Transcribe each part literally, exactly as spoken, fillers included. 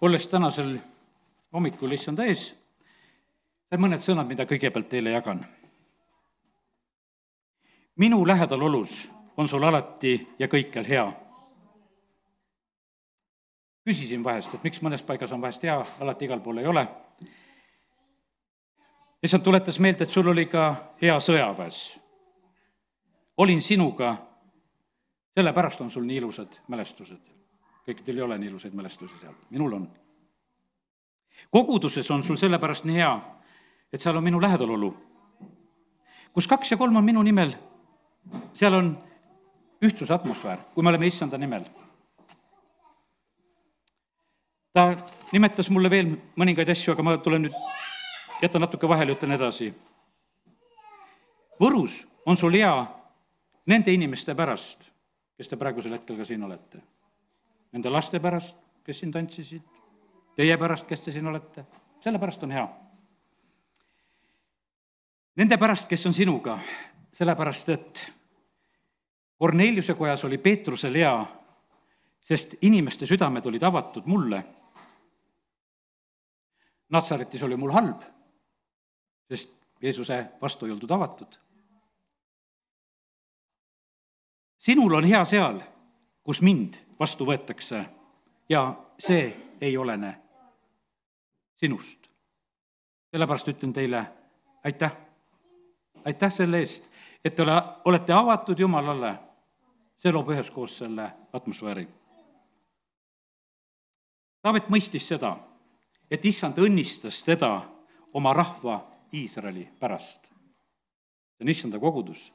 olles tänasel hommikul issanda ees, see mõned sõnad, mida kõigepealt teile jagan. Minu lähedal olus on sul alati ja kõikjal hea. Küsisin vahest, et miks mõnes paigas on vahest hea, alati igal pool ei ole. Issand tuletas meelde, et sul oli ka hea sõjaväes. Olin sinuga, sellepärast on sul nii ilusad mälestused. Kõikidel ei ole nii ilusaid mälestusi seal, minul on. Koguduses on sul sellepärast nii hea, et seal on minu lähedalolu. Kus kaks ja kolm on minu nimel, seal on ühtsuse atmosfäär, kui me oleme issanda nimel. Ta nimetas mulle veel mõningaid asju, aga ma tulen nüüd, jätan natuke vahele, ütlen edasi. Võrus on sul hea nende inimeste pärast, kes te praegusel hetkel ka siin olete. Nende laste pärast, kes siin tantsisid, teie pärast, kes te siin olete, selle pärast on hea. Nende pärast, kes on sinuga, sellepärast, et Korneliuse kojas oli Peetrusel hea, sest inimeste südamed olid avatud mulle. Natsaretis oli mul halb, sest Jeesuse vastu ei oldud avatud. Sinul on hea seal, kus mind vastu võetakse ja see ei olene sinust. Sellepärast ütlen teile aitäh. Aitäh selle eest, et te olete avatud Jumalale. See loob üheskoos selle atmosfääri. Taavet mõistis seda, et issand õnnistas teda oma rahva Iisraeli pärast. See on issanda kogudus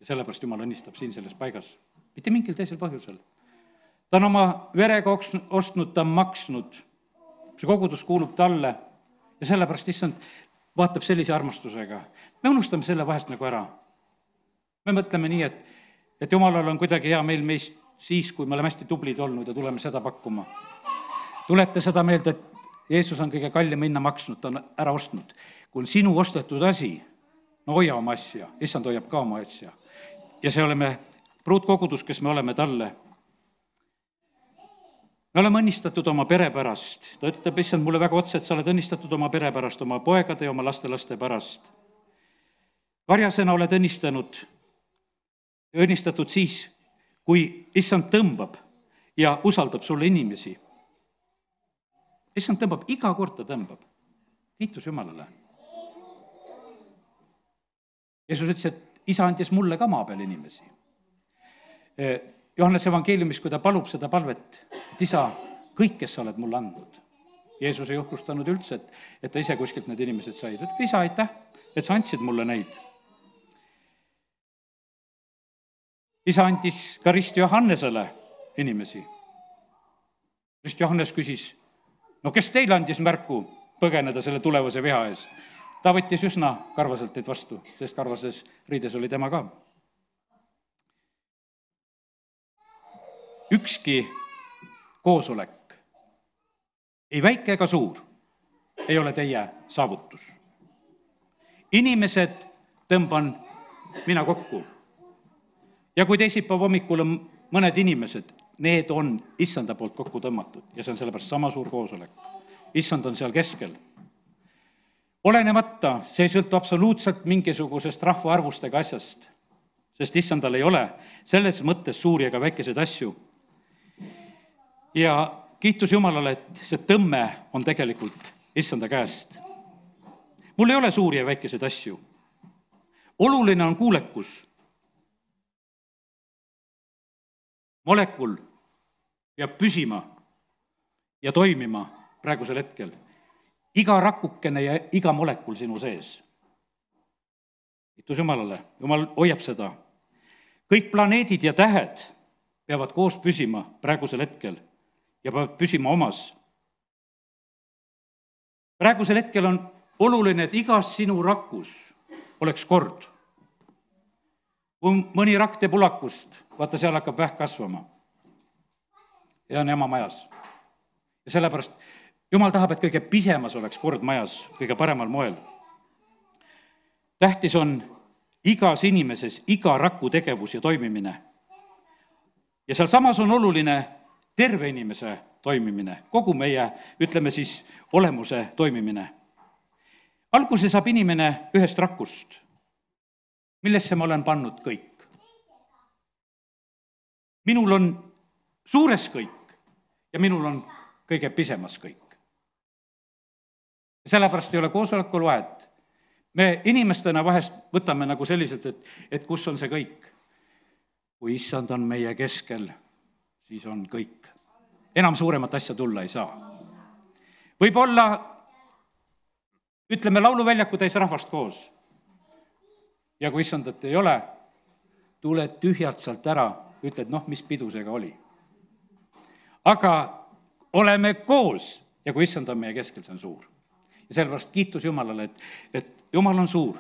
ja sellepärast Jumal õnnistab siin selles paigas. Mitte mingil teisel põhjusel. Ta on oma verega ostnud, ta on maksnud. See kogudus kuulub talle ja sellepärast issand vaatab sellise armastusega. Me unustame selle vahest nagu ära. Me mõtleme nii, et, et Jumalal on kuidagi hea meil meist siis, kui me oleme hästi tublid olnud ja tuleme seda pakkuma. Tulete seda meelde, et Jeesus on kõige kallim hinna maksnud, ta on ära ostnud. Kui on sinu ostetud asi, no hoia oma asja, issand hoiab ka oma asja. Ja see oleme pruutkogudus, kes me oleme talle. Me oleme õnnistatud oma pere pärast. Ta ütleb, issand mulle väga otse, et sa oled õnnistatud oma pere pärast, oma poegade ja oma laste-laste pärast. Karjasena oled õnnistanud, õnnistatud siis, kui issand tõmbab ja usaldab sulle inimesi. Issand tõmbab, iga kord ta tõmbab. Kiitus Jumalale. Jeesus ütles, et isa andis mulle ka maa peal inimesi. Johannes evangeeliumis, kui ta palub seda palvet, et isa, kõik, kes sa oled mulle andnud. Jeesus ei uhkustanud üldse, et, et ta ise kuskilt need inimesed said. Et isa, aitäh, et sa andsid mulle neid. Isa andis ka Rist Johannesele inimesi. Rist Johannes küsis, no kes teile andis märku põgeneda selle tulevase viha ees? Ta võttis üsna karvaselt teid vastu, sest karvases riides oli tema ka. Ükski koosolek, ei väike ega suur, ei ole teie saavutus. Inimesed tõmban mina kokku. Ja kui teisipäev hommikul on mõned inimesed, need on issanda poolt kokku tõmmatud ja see on sellepärast sama suur koosolek. Issand on seal keskel. Olenemata, see ei sõltu absoluutselt mingisugusest rahvaarvust ega asjast, sest issandal ei ole selles mõttes suuri ega väikeseid asju. Ja kiitus Jumalale, et see tõmme on tegelikult issanda käest. Mul ei ole suuri ja väikeseid asju. Oluline on kuulekus. Molekul peab püsima ja toimima praegusel hetkel. Iga rakukene ja iga molekul sinu sees. Kiitus Jumalale, Jumal hoiab seda. Kõik planeedid ja tähed peavad koos püsima praegusel hetkel ja peavad püsima omas. Praegusel hetkel on oluline, et igas sinu rakus oleks kord. Kui mõni rakk teeb ulakust, vaata, seal hakkab vähk kasvama. Ja on ema majas. Ja sellepärast Jumal tahab, et kõige pisemas oleks kord majas, kõige paremal moel. Tähtis on igas inimeses iga raku tegevus ja toimimine. Ja seal samas on oluline terve inimese toimimine, kogu meie, ütleme siis, olemuse toimimine. Alguse saab inimene ühest rakust, millesse ma olen pannud kõik. Minul on suures kõik ja minul on kõige pisemas kõik. Sellepärast ei ole koosolekul vahet. Me inimestena vahest võtame nagu selliselt, et, et kus on see kõik. Kui issand on meie keskel, siis on kõik. Enam suuremat asja tulla ei saa. Võib-olla, ütleme, lauluväljaku täis rahvast koos. Ja kui issandat ei ole, tuled tühjalt sealt ära, ütled, noh, mis pidusega oli. Aga oleme koos ja kui issand on meie keskel, see on suur. Ja sellepärast kiitus Jumalale, et, et Jumal on suur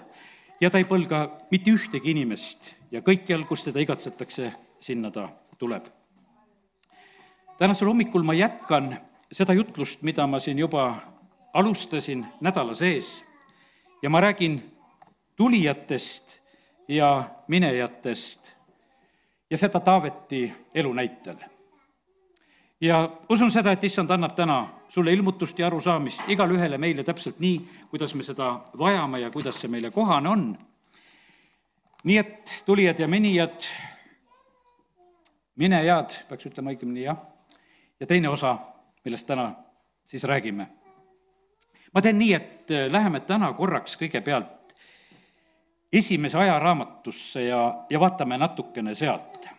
ja ta ei põlga mitte ühtegi inimest ja kõikjal, kus teda igatsetakse, sinna ta tuleb. Tänasel hommikul ma jätkan seda jutlust, mida ma siin juba alustasin nädala sees ja ma räägin tulijatest ja minejatest ja seda Taaveti elu näitel. Ja usun seda, et issand annab täna sulle ilmutust ja arusaamist igal ühele meile täpselt nii, kuidas me seda vajame ja kuidas see meile kohane on. Nii et tulijad ja minijad, minejad, peaks ütlema õigemini, jah. Ja teine osa, millest täna siis räägime. Ma teen nii, et läheme täna korraks kõigepealt esimese ajaraamatusse ja, ja vaatame natukene sealt.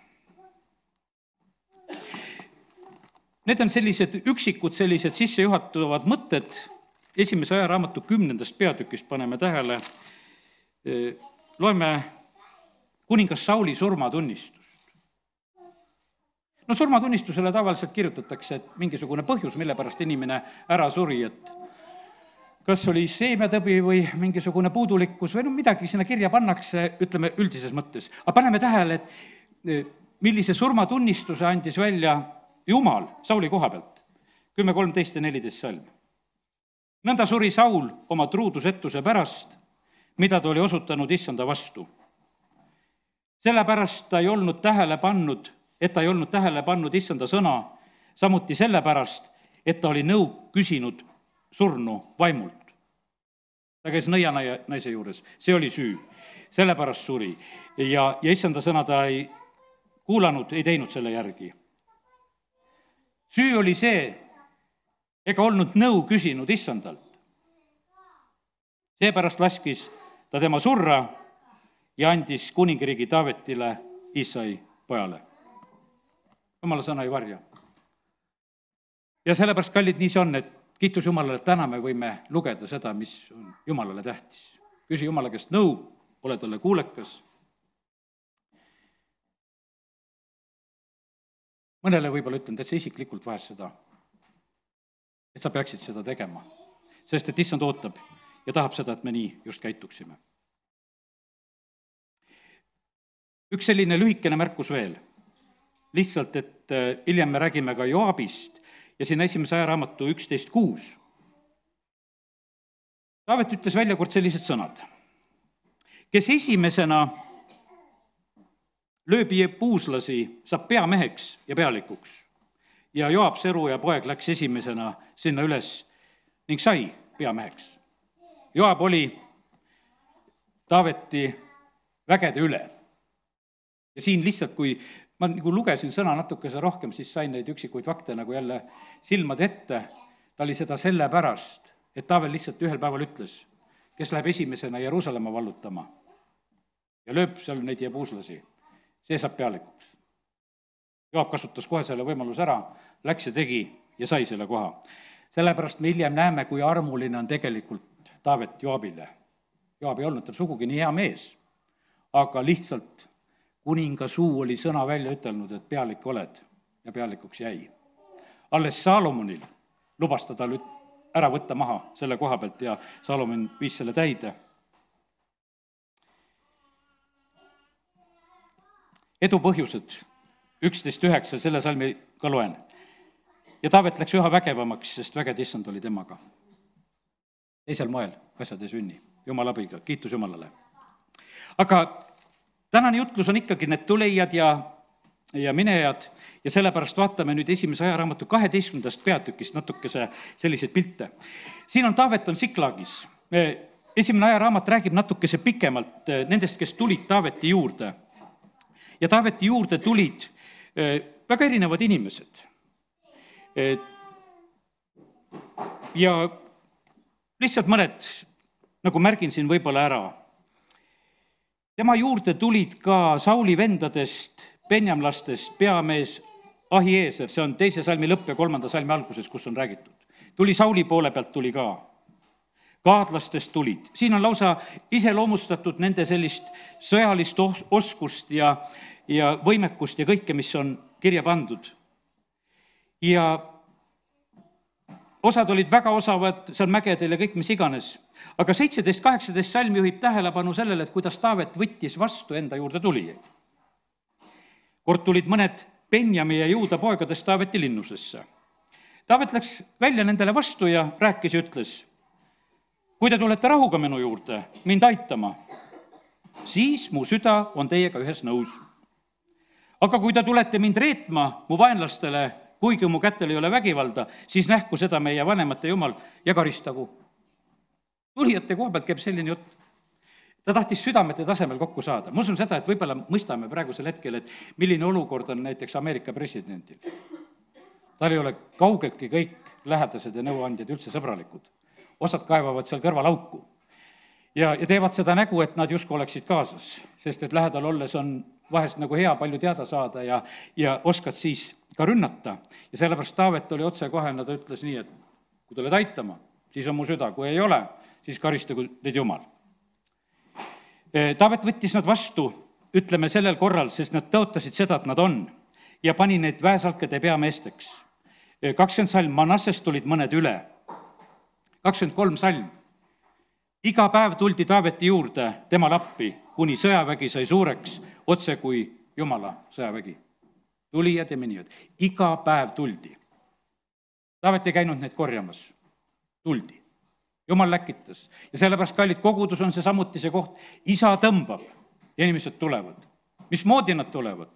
Need on sellised üksikud, sellised sissejuhatavad mõtted. Esimese ajaraamatu kümnendast peatükist paneme tähele. Loeme kuningas Sauli surmatunnistust. No surmatunnistusele tavaliselt kirjutatakse, et mingisugune põhjus, mille pärast inimene ära suri, et kas oli seemnetõbi või mingisugune puudulikkus või no midagi sinna kirja pannakse, ütleme üldises mõttes. Aga paneme tähele, et millise surmatunnistuse andis välja Jumal Sauli koha pealt. kümme kolmteist ja neliteist salm. Nõnda suri Saul oma truudusetuse pärast, mida ta oli osutanud issanda vastu. Sellepärast ta ei olnud tähele pannud, et ta ei olnud tähele pannud issanda sõna, samuti sellepärast, et ta oli nõu küsinud surnu vaimult. Ta käis nõianaise juures, see oli süü, sellepärast suri. Ja, ja issanda sõna ta ei kuulanud, ei teinud selle järgi. Süü oli see, ega olnud nõu küsinud issandalt. Seepärast laskis ta tema surra ja andis kuningriigi Taavetile, Iisai pojale. Jumala sõna ei varja. Ja sellepärast, kallid, nii see on, et kiitus Jumalale, täna me võime lugeda seda, mis on Jumalale tähtis. Küsi Jumala käest nõu, ole talle kuulekas. Mõnele võib-olla ütlen täitsa isiklikult vahest seda, et sa peaksid seda tegema, sest et issand ootab ja tahab seda, et me nii just käituksime. Üks selline lühikene märkus veel. Lihtsalt, et hiljem me räägime ka Joabist ja siin esimese ajaraamatu üksteist kuus. Taavet ütles välja kord sellised sõnad. Kes esimesena lööbi puuslasi, saab peameheks ja pealikuks. Ja Joab, Seru ja poeg läks esimesena sinna üles ning sai peameheks. Joab oli Taaveti vägede üle. Ja siin lihtsalt, kui ma nagu lugesin sõna natukese rohkem, siis sain neid üksikuid fakte nagu jälle silmad ette. Ta oli seda selle pärast, et Taavel lihtsalt ühel päeval ütles, kes läheb esimesena Jeruusalemma vallutama ja lööb seal neid jebuuslasi. See saab pealikuks. Joab kasutas kohe selle võimaluse ära, läks ja tegi ja sai selle koha. Sellepärast me hiljem näeme, kui armuline on tegelikult Taavet Joabile. Joab ei olnud tal sugugi nii hea mees, aga lihtsalt kuninga suu oli sõna välja ütelnud, et pealik oled ja pealikuks jäi. Alles Saalomonil lubas ta tal ära võtta maha selle koha pealt ja Saalomon viis selle täide. Edu põhjused, üksteist üheksa, selle salmi ka loen. Ja Taavet läks üha vägevamaks, sest väged issand oli temaga. Teisel moel asjad ei sünni, Jumala abiga, kiitus Jumalale. Aga tänane jutlus on ikkagi need tulijad ja, ja minejad ja sellepärast vaatame nüüd esimese ajaraamatu kaheteistkümnendast peatükist natukese selliseid pilte. Siin on Taavet on Siklagis. Esimene ajaraamat räägib natukese pikemalt nendest, kes tulid Taaveti juurde. Ja Taaveti juurde tulid väga erinevad inimesed. Ja lihtsalt mõned, nagu märgin siin võib-olla ära. Tema juurde tulid ka Sauli vendadest, benjamlastest, peamees Ahieser, see on teise salmi lõpp ja kolmanda salmi alguses, kus on räägitud. Tuli Sauli poole pealt, tuli ka. Kaadlastest tulid. Siin on lausa iseloomustatud nende sellist sõjalist oskust ja, ja võimekust ja kõike, mis on kirja pandud. Ja osad olid väga osavad seal mägedel ja kõik, mis iganes. Aga seitseteist kaheksateist salm juhib tähelepanu sellele, et kuidas Taavet võttis vastu enda juurde tulijaid. Kord tulid mõned Benjami ja Juuda poegadest Taaveti linnusesse. Taavet läks välja nendele vastu ja rääkis ja ütles, kui te tulete rahuga minu juurde, mind aitama, siis mu süda on teiega ühes nõus. Aga kui te tulete mind reetma mu vaenlastele, kuigi mu kätel ei ole vägivalda, siis nähku seda meie vanemate jumal ja karistagu. Tulijate koha pealt käib selline jutt. Ta tahtis südamete tasemel kokku saada. Ma usun seda, et võib-olla mõistame praegusel hetkel, et milline olukord on näiteks Ameerika presidendil. Tal ei ole kaugeltki kõik lähedased ja nõuandjad üldse sõbralikud. Osad kaevavad seal kõrval auku ja, ja teevad seda nägu, et nad justkui oleksid kaasas, sest et lähedal olles on vahest nagu hea palju teada saada ja, ja oskad siis ka rünnata. Ja sellepärast Taavet oli otsekohene, ta ütles nii, et kui tuled aitama, siis on mu süda, kui ei ole, siis karistagu teid jumal. Taavet võttis nad vastu, ütleme sellel korral, sest nad tõotasid seda, et nad on ja pani neid väesalkede peameesteks. kakskümmend salm, Manassest tulid mõned üle. kakskümmend kolm salm. Iga päev tuldi Taaveti juurde tema lappi, kuni sõjavägi sai suureks, otse kui Jumala sõjavägi. Tulijad ja minijad. Iga päev tuldi. Taavet ei käinud neid korjamas. Tuldi. Jumal läkitas. Ja sellepärast, kallid, kogudus on see samuti see koht. Isa tõmbab ja inimesed tulevad. Mismoodi nad tulevad?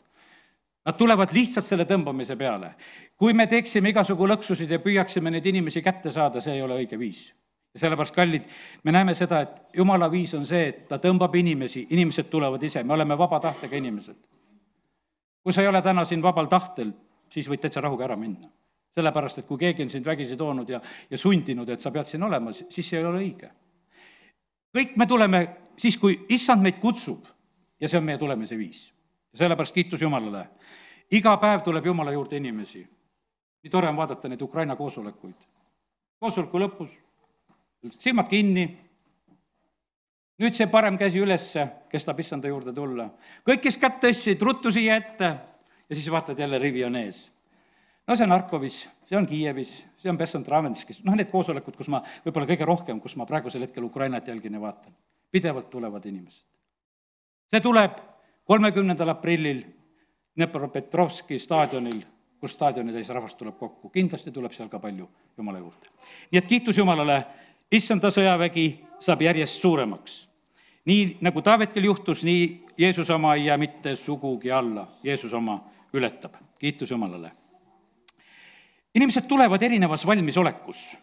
Nad tulevad lihtsalt selle tõmbamise peale. Kui me teeksime igasugu lõksusid ja püüaksime neid inimesi kätte saada, see ei ole õige viis. Ja sellepärast, kallid, me näeme seda, et Jumala viis on see, et ta tõmbab inimesi, inimesed tulevad ise, me oleme vaba tahtega inimesed. Kui sa ei ole täna siin vabal tahtel, siis võid täitsa rahuga ära minna. Sellepärast, et kui keegi on sind vägisi toonud ja, ja sundinud, et sa pead siin olema, siis see ei ole õige. Kõik me tuleme siis, kui issand meid kutsub ja see on meie tulemise viis. Ja sellepärast kiitus Jumalale. Iga päev tuleb Jumala juurde inimesi. Nii tore on vaadata neid Ukraina koosolekuid. Koosoleku lõpus, silmad kinni, nüüd see parem käsi ülesse, kes tahab issanda juurde tulla. Kõik, kes kätt tõstsid, ruttu siia ette ja siis vaatad jälle rivi on ees. No see on Harkovis, see on Kiievis, see on Bessant-Ravenskis, noh need koosolekud, kus ma võib-olla kõige rohkem, kus ma praegusel hetkel Ukrainat jälgin ja vaatan. Pidevalt tulevad inimesed. See tuleb kolmekümnendal aprillil Dnepropetrovski staadionil, kus staadionid ees rahvast tuleb kokku. Kindlasti tuleb seal ka palju Jumala juurde. Nii et kiitus Jumalale, issanda sõjavägi saab järjest suuremaks. Nii nagu Taavetil juhtus, nii Jeesus oma ei jää mitte sugugi alla. Jeesus oma ületab. Kiitus Jumalale. Inimesed tulevad erinevas valmisolekus.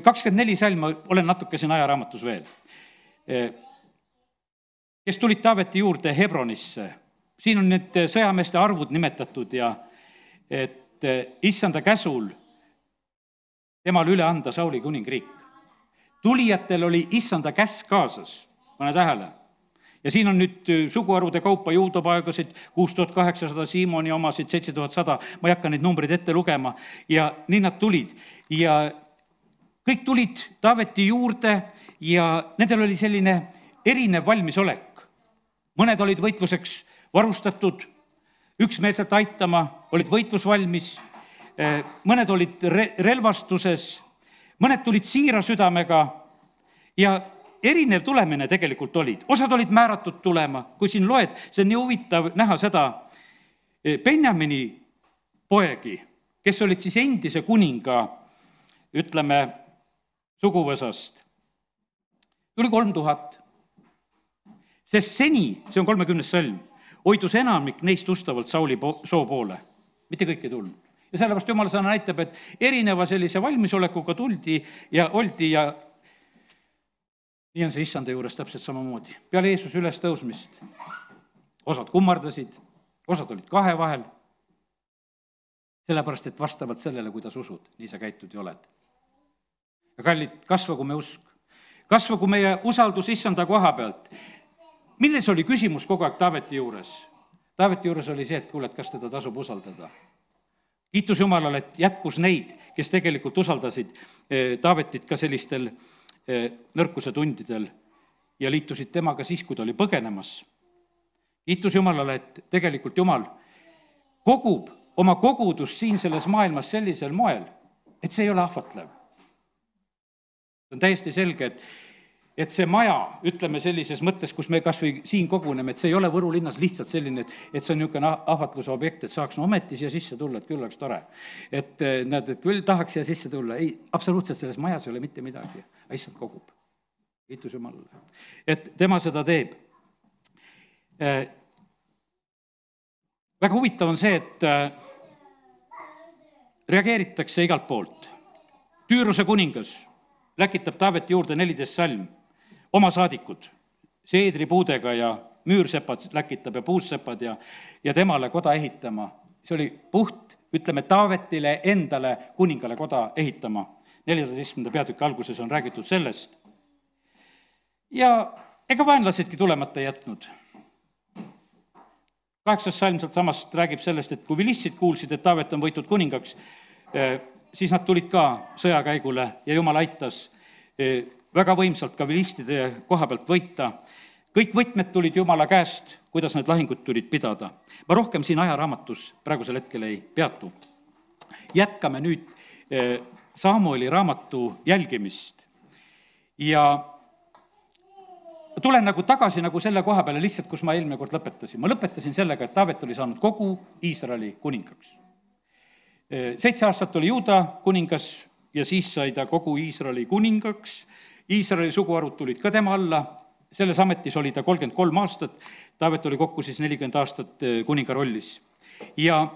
kakskümmend neli salma, olen natuke siin ajaraamatus veel. Kes tulid Taaveti juurde Hebronisse, siin on need sõjameeste arvud nimetatud ja et issanda käsul temal üle anda Sauli kuningriik. Tulijatel oli issanda käsk kaasas, pane tähele. Ja siin on nüüd suguharude kaupa juudopaegasid, kuus tuhat kaheksasada, Siimoni omasid, seitse tuhat sada, ma ei hakka neid numbrid ette lugema ja nii nad tulid. Ja kõik tulid Taaveti juurde ja nendel oli selline erinev valmisolek. Mõned olid võitluseks varustatud, üksmeelselt aitama, olid võitlusvalmis, mõned olid re- relvastuses, mõned tulid siira südamega ja erinev tulemine tegelikult olid. Osad olid määratud tulema, kui siin loed, see on nii huvitav näha seda Benjamini poegi, kes olid siis endise kuninga, ütleme, suguvõsast. Tuli kolm tuhat. Sest seni, see on kolmekümnes salm, hoidus enamik neist ustavalt Sauli po- soo poole. Mitte kõik ei tulnud. Ja sellepärast Jumala sõna näitab, et erineva sellise valmisolekuga tuldi ja oldi ja nii on see issanda juures täpselt samamoodi. Peale Jeesuse üles tõusmist osad kummardasid, osad olid kahe vahel, sellepärast, et vastavalt sellele, kuidas usud, nii sa käitud ja oled. Ja kallid, kasvagu me usk, kasvagu meie usaldus issanda koha pealt. Milles oli küsimus kogu aeg Taaveti juures? Taaveti juures oli see, et kuule, et kas teda tasub usaldada. Kiitus Jumalale, et jätkus neid, kes tegelikult usaldasid Taavetit ka sellistel nõrkuse tundidel ja liitusid temaga siis, kui ta oli põgenemas. Kiitus Jumalale, et tegelikult Jumal kogub oma kogudust siin selles maailmas sellisel moel, et see ei ole ahvatlev. On täiesti selge, et, et see maja, ütleme sellises mõttes, kus me kas või siin koguneme, et see ei ole Võru linnas lihtsalt selline, et, et see on niisugune ahvatluse objekt, et saaks no ometi siia sisse tulla, et küll oleks tore. Et näed, et küll tahaks siia sisse tulla. Ei, absoluutselt selles majas ei ole mitte midagi. Issand kogub. Kiitus Jumalale. Et tema seda teeb. Väga huvitav on see, et reageeritakse igalt poolt. Tüüruse kuningas läkitab Taaveti juurde neliteist salm, oma saadikud, seedripuudega ja müürsepad läkitab ja puussepad ja, ja temale koda ehitama. See oli puht, ütleme, Taavetile endale kuningale koda ehitama. neljateistkümnenda peatüki alguses on räägitud sellest. Ja ega vaenlasedki tulemata jätnud. Kaheksas salm sealt samast räägib sellest, et kui vilissid kuulsid, et Taavet on võitud kuningaks, siis nad tulid ka sõjakäigule ja Jumal aitas väga võimsalt ka vilistide koha pealt võita. Kõik võtmed tulid Jumala käest, kuidas need lahingud tulid pidada. Ma rohkem siin ajaraamatus praegusel hetkel ei peatu. Jätkame nüüd Samueli raamatu jälgimist ja tulen nagu tagasi nagu selle koha peale lihtsalt, kus ma eelmine kord lõpetasin. Ma lõpetasin sellega, et Taavet oli saanud kogu Iisraeli kuningaks. Seitse aastat oli Juuda kuningas ja siis sai ta kogu Iisraeli kuningaks. Iisraeli suguharud tulid ka tema alla. Selles ametis oli ta kolmkümmend kolm aastat. Taavet oli kokku siis nelikümmend aastat kuninga rollis. Ja,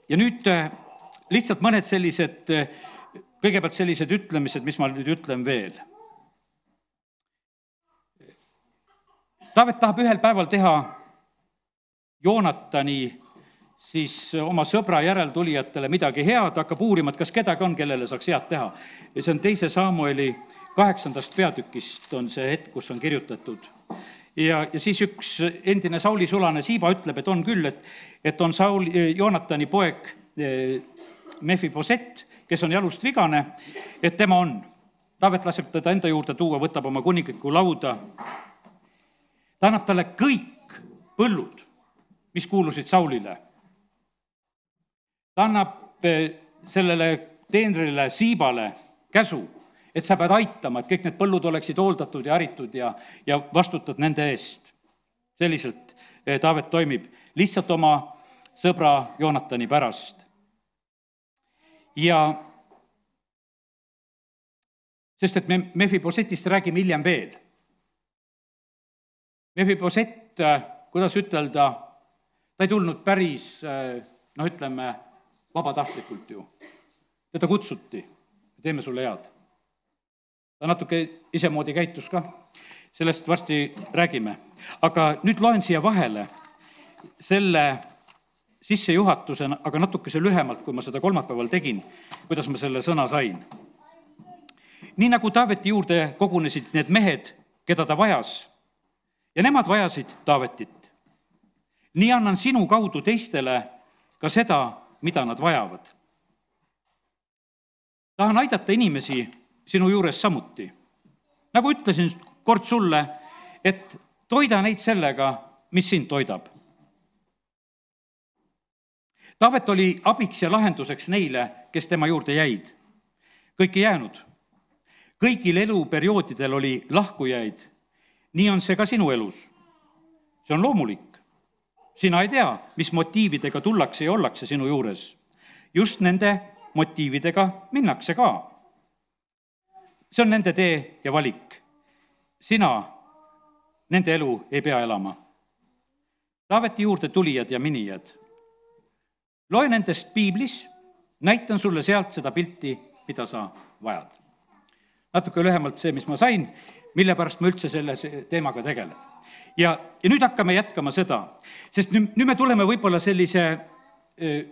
ja nüüd lihtsalt mõned sellised, kõigepealt sellised ütlemised, mis ma nüüd ütlen veel. Taavet tahab ühel päeval teha Joonatani siis oma sõbra järeltulijatele midagi head, hakkab uurima, et kas kedagi on, kellele saaks head teha. Ja see on teise Samueli kaheksandast peatükist on see hetk, kus on kirjutatud. Ja, ja siis üks endine Sauli sulane Siiba ütleb, et on küll, et, et on Sauli, Joonatani poeg Mefiboset, kes on jalust vigane, et tema on. Taavet laseb teda enda juurde tuua, võtab oma kuningliku lauda. Ta annab talle kõik põllud, mis kuulusid Saulile. Ta annab sellele teenrile Siibale käsu, et sa pead aitama, et kõik need põllud oleksid hooldatud ja haritud ja, ja vastutad nende eest. Selliselt Taavet toimib lihtsalt oma sõbra Joonatani pärast. Ja sest, et me Mefibosetist räägime hiljem veel. Mefiboset, kuidas ütelda, ta ei tulnud päris, no ütleme, vabatahtlikult ju. Teda kutsuti, teeme sulle head. Ta natuke isemoodi käitus ka, sellest varsti räägime. Aga nüüd loen siia vahele selle sissejuhatusena, aga natukese lühemalt, kui ma seda kolmapäeval tegin, kuidas ma selle sõna sain. Nii nagu Taaveti juurde kogunesid need mehed, keda ta vajas, ja nemad vajasid Taavetit. Nii annan sinu kaudu teistele ka seda, mida nad vajavad. Tahan aidata inimesi sinu juures samuti. Nagu ütlesin kord sulle, et toida neid sellega, mis sind toidab. Taavet oli abiks ja lahenduseks neile, kes tema juurde jäid. Kõik ei jäänud. Kõigil eluperioodidel oli lahkujaid. Nii on see ka sinu elus. See on loomulik. Sina ei tea, mis motiividega tullakse ja ollakse sinu juures. Just nende motiividega minnakse ka. See on nende tee ja valik. Sina nende elu ei pea elama. Taaveti juurde tulijad ja minijad. Loe nendest piiblis, näitan sulle sealt seda pilti, mida sa vajad. Natuke lühemalt see, mis ma sain, mille pärast ma üldse selle teemaga tegelen. Ja, ja nüüd hakkame jätkama seda, sest nüüd, nüüd me tuleme võib-olla sellise,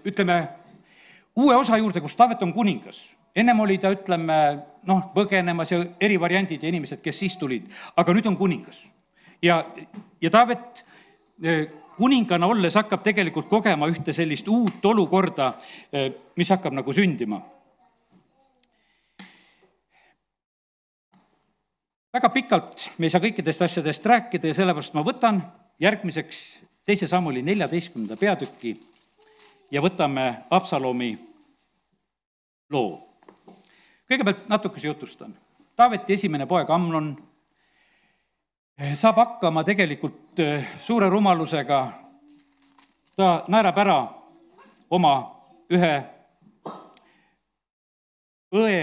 ütleme, uue osa juurde, kus Taavet on kuningas. Ennem oli ta, ütleme, noh, põgenemas ja eri variandid ja inimesed, kes siis tulid, aga nüüd on kuningas. Ja, ja Taavet kuningana olles hakkab tegelikult kogema ühte sellist uut olukorda, mis hakkab nagu sündima. Väga pikalt me ei saa kõikidest asjadest rääkida ja sellepärast ma võtan järgmiseks teise Samueli neljateistkümnenda peatüki ja võtame Absalomi loo. Kõigepealt natukese jutustan. Taaveti esimene poeg Amnon saab hakkama tegelikult suure rumalusega. Ta naerab ära oma ühe õe.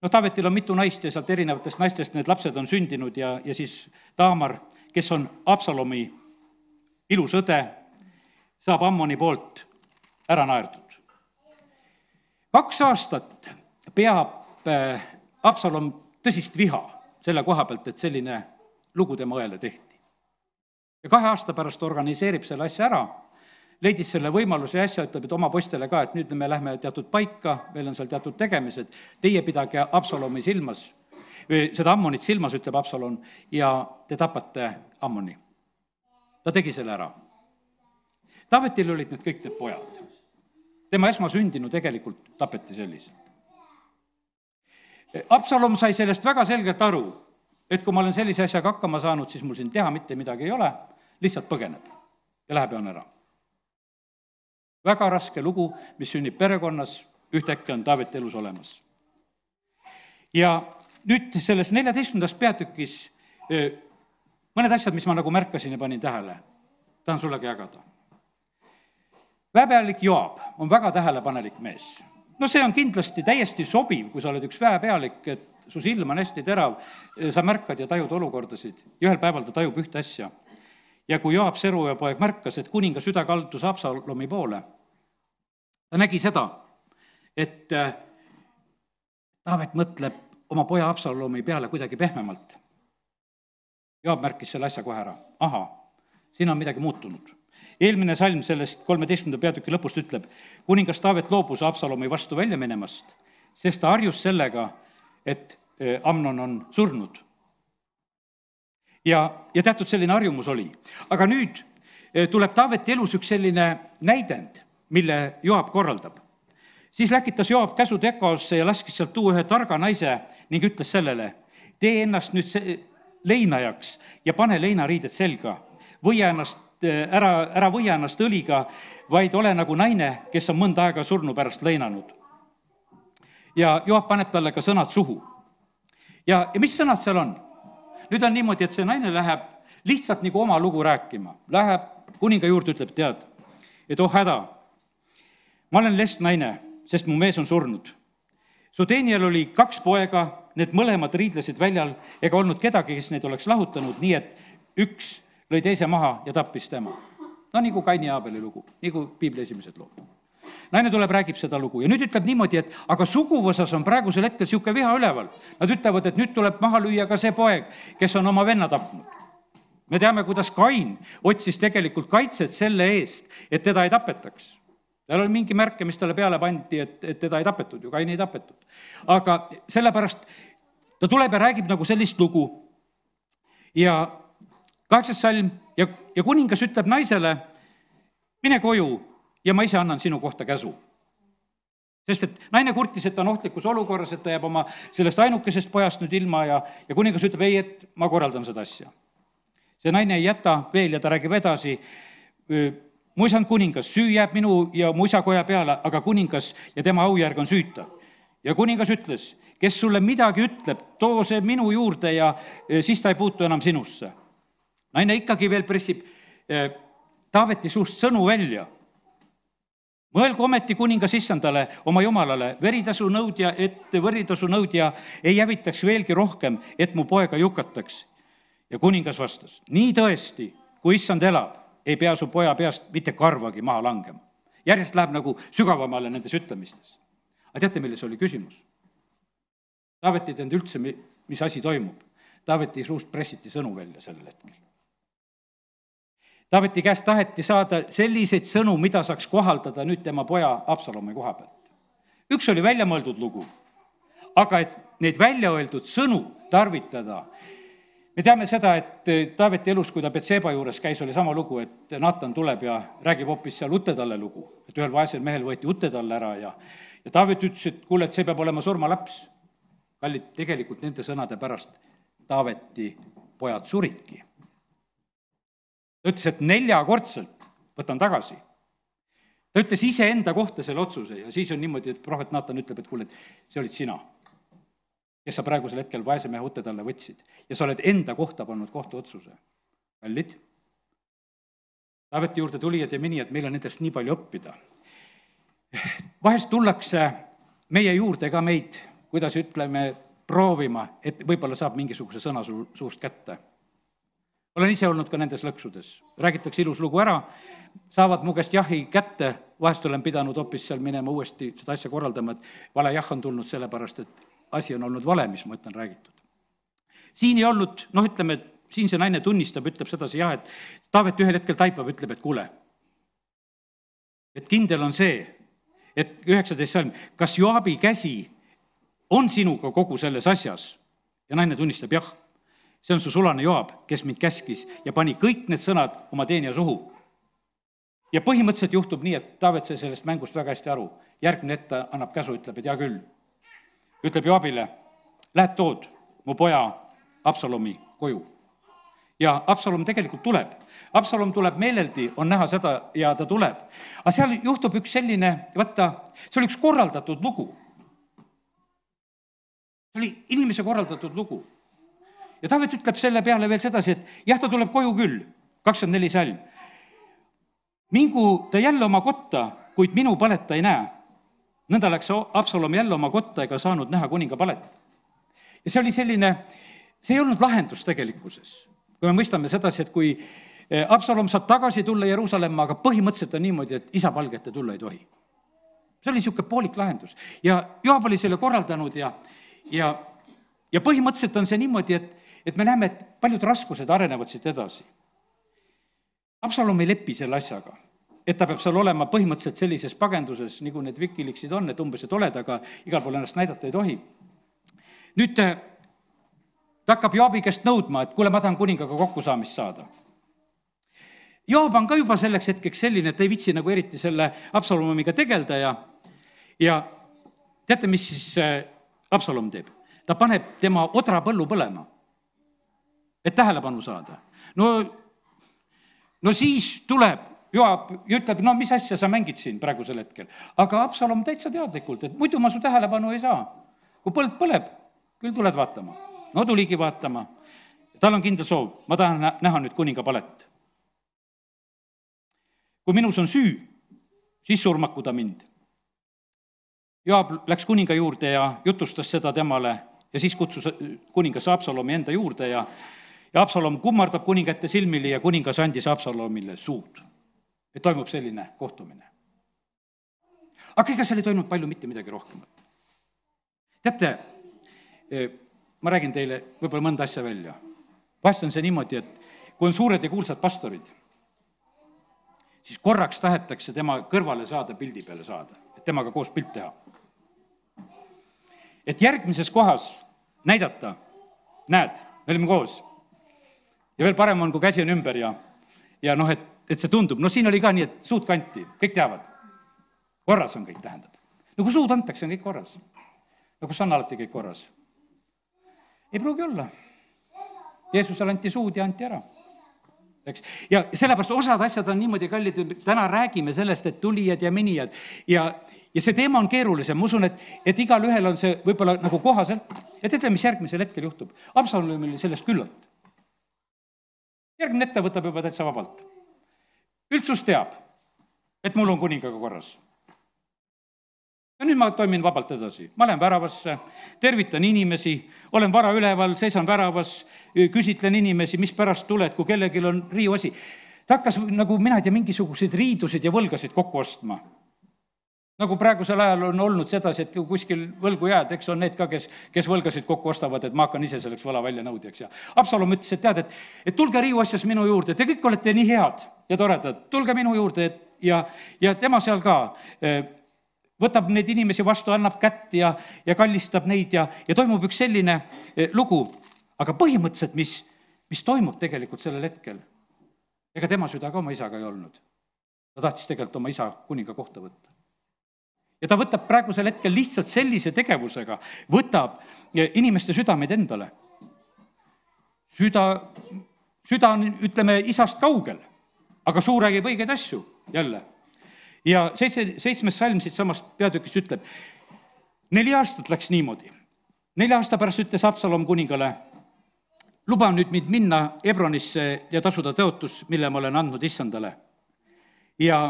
No Taavetil on mitu naist ja sealt erinevatest naistest need lapsed on sündinud ja, ja siis Taamar, kes on Absalomi ilus õde, saab Ammoni poolt ära naerdud. Kaks aastat peab Absalom tõsist viha selle koha pealt, et selline lugu tema õele tehti. Ja kahe aasta pärast organiseerib selle asja ära, leidis selle võimaluse ja asja, ütleb, et oma postele ka, et nüüd me lähme teatud paika, meil on seal teatud tegemised, teie pidage Absalomi silmas, seda Ammonit silmas, ütleb Absalom, ja te tapate Ammoni. Ta tegi selle ära. Taavetil olid need kõik need pojad. Tema esmasündinu tegelikult tapeti selliselt. Absalom sai sellest väga selgelt aru, et kui ma olen sellise asjaga hakkama saanud, siis mul siin teha mitte midagi ei ole, lihtsalt põgeneb ja läheb ja on ära. Väga raske lugu, mis sünnib perekonnas, ühtäkki on Taaveti elus olemas. Ja nüüd selles neljateistkümnendas peatükis mõned asjad, mis ma nagu märkasin ja panin tähele, tahan sullega jagada. Väepealik Joab on väga tähelepanelik mees. No see on kindlasti täiesti sobiv, kui sa oled üks väepealik, et su silm on hästi terav, sa märkad ja tajud olukordasid. Ja ühel päeval ta tajub ühte asja. Ja kui Joab Seruja poeg märkas, et kuninga süda kaldus Absalomi poole, ta nägi seda, et Taavet mõtleb oma poja Absalomi peale kuidagi pehmemalt. Joab märkis selle asja kohe ära. Aha, siin on midagi muutunud. Eelmine salm sellest kolmeteistkümnenda peatüki lõpust ütleb, kuningas Taavet loobus Absalomi vastu välja minemast, sest ta harjus sellega, et Amnon on surnud. Ja, ja teatud selline harjumus oli. Aga nüüd tuleb Taaveti elus üks selline näidend, mille Joab korraldab. Siis läkitas Joab käsu Tekosse ja laskis sealt tuua ühe targa naise ning ütles sellele, tee ennast nüüd leinajaks ja pane leinariided selga. Võia ennast, ära, ära võia ennast õliga, vaid ole nagu naine, kes on mõnda aega surnu pärast leinanud. Ja Joab paneb talle ka sõnad suhu. Ja, ja mis sõnad seal on? Nüüd on niimoodi, et see naine läheb lihtsalt nagu oma lugu rääkima. Läheb kuninga juurde, ütleb, tead, et oh häda, ma olen lest naine, sest mu mees on surnud. Su teenijal oli kaks poega, need mõlemad riidlesid väljal ega olnud kedagi, kes neid oleks lahutanud, nii et üks lõi teise maha ja tappis tema. No nagu Kaini ja Aabeli lugu, nagu Piibli esimesed lood. Naine tuleb, räägib seda lugu ja nüüd ütleb niimoodi, et aga suguvõsas on praegusel hetkel siuke viha üleval. Nad ütlevad, et nüüd tuleb maha lüüa ka see poeg, kes on oma venna tapnud. Me teame, kuidas Kain otsis tegelikult kaitset selle eest, et teda ei tapetaks. Tal oli mingi märke, mis talle peale pandi, et, et teda ei tapetud ju, Kain ei tapetud. Aga sellepärast ta tuleb ja räägib nagu sellist lugu. Ja kaheksas salm ja, ja kuningas ütleb naisele, mine koju ja ma ise annan sinu kohta käsu. Sest et naine kurtis, et ta on ohtlikus olukorras, et ta jääb oma sellest ainukesest pojast nüüd ilma ja, ja kuningas ütleb, ei, et ma korraldan seda asja. See naine ei jäta veel ja ta räägib edasi, mu isand kuningas, süü jääb minu ja mu isa koja peale, aga kuningas ja tema aujärg on süüta. Ja kuningas ütles, kes sulle midagi ütleb, too see minu juurde ja siis ta ei puutu enam sinusse. Naine ikkagi veel pressib Taaveti suust sõnu välja. Mõelgu ometi kuningas issandale, oma jumalale, veritasu nõudja, et veritasu nõudja ei jävitaks veelgi rohkem, et mu poega jukataks. Ja kuningas vastas, nii tõesti, kui issand elab, ei pea su poja peast mitte karvagi maha langema. Järjest läheb nagu sügavamale nendes ütlemistes. Aga teate, milles oli küsimus? Taavet ei teadnud üldse, mis asi toimub. Taaveti suust pressiti sõnu välja sellel hetkel. Taaveti käest taheti saada selliseid sõnu, mida saaks kohaldada nüüd tema poja Absalomi koha pealt. Üks oli välja mõeldud lugu, aga et neid välja öeldud sõnu tarvitada. Me teame seda, et Taaveti elus, kui ta Betseba juures käis, oli sama lugu, et Naatan tuleb ja räägib hoopis seal Utetalle lugu, et ühel vaesel mehel võeti Utetalle ära ja, ja Taavet ütles, et kuule, et see peab olema surmalaps. Kallid, tegelikult nende sõnade pärast Taaveti pojad suridki. Ta ütles, et neljakordselt võtan tagasi. Ta ütles ise enda kohta selle otsuse ja siis on niimoodi, et prohvet Naatan ütleb, et kuule, et see olid sina, kes sa praegusel hetkel vaese mehe Utetalle võtsid ja sa oled enda kohta pannud kohtu otsuse. Kallid, Taaveti juurde tulijad ja minijad, meil on nendest nii palju õppida. Vahest tullakse meie juurde ka meid, kuidas ütleme, proovima, et võib-olla saab mingisuguse sõna su, suust kätte. Olen ise olnud ka nendes lõksudes. Räägitakse ilus lugu ära, saavad mu käest jahi kätte, vahest olen pidanud hoopis seal minema uuesti seda asja korraldama, et vale jah on tulnud sellepärast, et asi on olnud vale, mis ma ütlen räägitud. Siin ei olnud, noh ütleme, siin see naine tunnistab, ütleb sedasi jah, et Taavet ühel hetkel taipab, ütleb, et kuule, et kindel on see, et üheksateist salm, kas Joabi käsi on sinuga kogu selles asjas? Ja naine tunnistab, jah, see on su sulane Joab, kes mind käskis ja pani kõik need sõnad oma teenija suhu. Ja põhimõtteliselt juhtub nii, et Taavet sai sellest mängust väga hästi aru. Järgmine ette annab käsu, ütleb, et hea küll. Ütleb Joabile, lähed tood mu poja Absalomi koju. Ja Absalom tegelikult tuleb. Absalom tuleb meeleldi, on näha seda ja ta tuleb. Aga seal juhtub üks selline, vaata, see oli üks korraldatud lugu. See oli inimese korraldatud lugu. Ja Taavet ütleb selle peale veel sedasi, et jah, ta tuleb koju küll, kakskümmend neli salm. Mingu ta jälle oma kotta, kuid minu paleta ei näe. Nõnda läks Absalom jälle oma kotta ega saanud näha kuninga palet. Ja see oli selline, see ei olnud lahendus tegelikkuses. Kui me mõistame sedasi, et kui Absalom saab tagasi tulla Jeruusalemma, aga põhimõtteliselt on niimoodi, et isa palgete tulla ei tohi. See oli niisugune poolik lahendus. Ja Joab oli selle korraldanud ja, ja, ja põhimõtteliselt on see niimoodi, et, et me näeme, et paljud raskused arenevad siit edasi. Absalom ei lepi selle asjaga, et ta peab seal olema põhimõtteliselt sellises pagenduses, nagu need vikiliksid on, et umbes, et oled, aga igal pool ennast näidata ei tohi. Nüüd ta hakkab Joabi käest nõudma, et kuule, ma tahan kuningaga kokkusaamist saada. Joab on ka juba selleks hetkeks selline, et ta ei vitsi nagu eriti selle Absalomiga tegelda ja, ja teate, mis siis Absalom teeb? Ta paneb tema odra põllu põlema, et tähelepanu saada. No, no siis tuleb Joab ja ütleb, no mis asja sa mängid siin praegusel hetkel. Aga Absalom täitsa teadlikult, et muidu ma su tähelepanu ei saa. Kui põld põleb, küll tuled vaatama. No tuligi vaatama. Tal on kindel soov, ma tahan näha nüüd kuninga palet. Kui minus on süü, siis surmaku ta mind. Joab läks kuninga juurde ja jutustas seda temale ja siis kutsus kuningas Absalomi enda juurde ja, ja Absalom kummardab kuningate silmili ja kuningas andis Absalomile suud. Et toimub selline kohtumine. Aga ega seal ei toimunud palju mitte midagi rohkemat. Teate, ma räägin teile võib-olla mõnda asja välja. Vahest on see niimoodi, et kui on suured ja kuulsad pastorid, siis korraks tahetakse tema kõrvale saada, pildi peale saada, et temaga koos pilt teha. Et järgmises kohas näidata, näed, me olime koos. Ja veel parem on, kui käsi on ümber ja, ja noh, et, et see tundub. No siin oli ka nii, et suud kanti, kõik teavad. Korras on kõik, tähendab. No kui suud antakse, on kõik korras. No kus on alati kõik korras? Ei pruugi olla. Jeesusel anti suud ja anti ära. Eks? Ja sellepärast osad asjad on niimoodi kallid, täna räägime sellest, et tulijad ja minijad. Ja, ja see teema on keerulisem. Ma usun, et, et igal ühel on see võib-olla nagu kohaselt. Ja teate, mis järgmisel hetkel juhtub? Absalomil sellest küllalt. Järgmine ette võtab juba täitsa vabalt. Üldsus teab, et mul on kuningaga korras. ja nüüd ma toimin vabalt edasi. Ma lähen väravasse, tervitan inimesi, olen vara üleval, seisan väravas, küsitlen inimesi, mis pärast tuled, kui kellelgi on riiuasi. Ta hakkas nagu mina ei tea, mingisuguseid riidusid ja võlgasid kokku ostma. Nagu praegusel ajal on olnud sedasi, et kuskil võlgu jääd, eks on need ka, kes, kes võlgasid kokku ostavad, et ma hakkan ise selleks võla välja nõudjaks. Ja Absalom ütles, et tead, et, et tulge riiuasjas minu juurde, te kõik olete nii head ja toredad, tulge minu juurde, et, ja, ja tema seal ka võtab neid inimesi vastu, annab kätt ja, ja kallistab neid ja, ja toimub üks selline lugu. Aga põhimõtteliselt, mis, mis toimub tegelikult sellel hetkel, ega tema süda ka oma isaga ei olnud. Ta tahtis tegelikult oma isa kuninga kohta võtta. Ja ta võtab praegusel hetkel lihtsalt sellise tegevusega, võtab inimeste südameid endale. Süda, süda on, ütleme, isast kaugel, aga suu räägib õigeid asju jälle. Ja seitse, seitsmes salm siit samast peatükist ütleb, neli aastat läks niimoodi. Nelja aasta pärast ütles Absalom kuningale, luba nüüd mind minna Hebronisse ja tasuda tõotus, mille ma olen andnud issandale. Ja,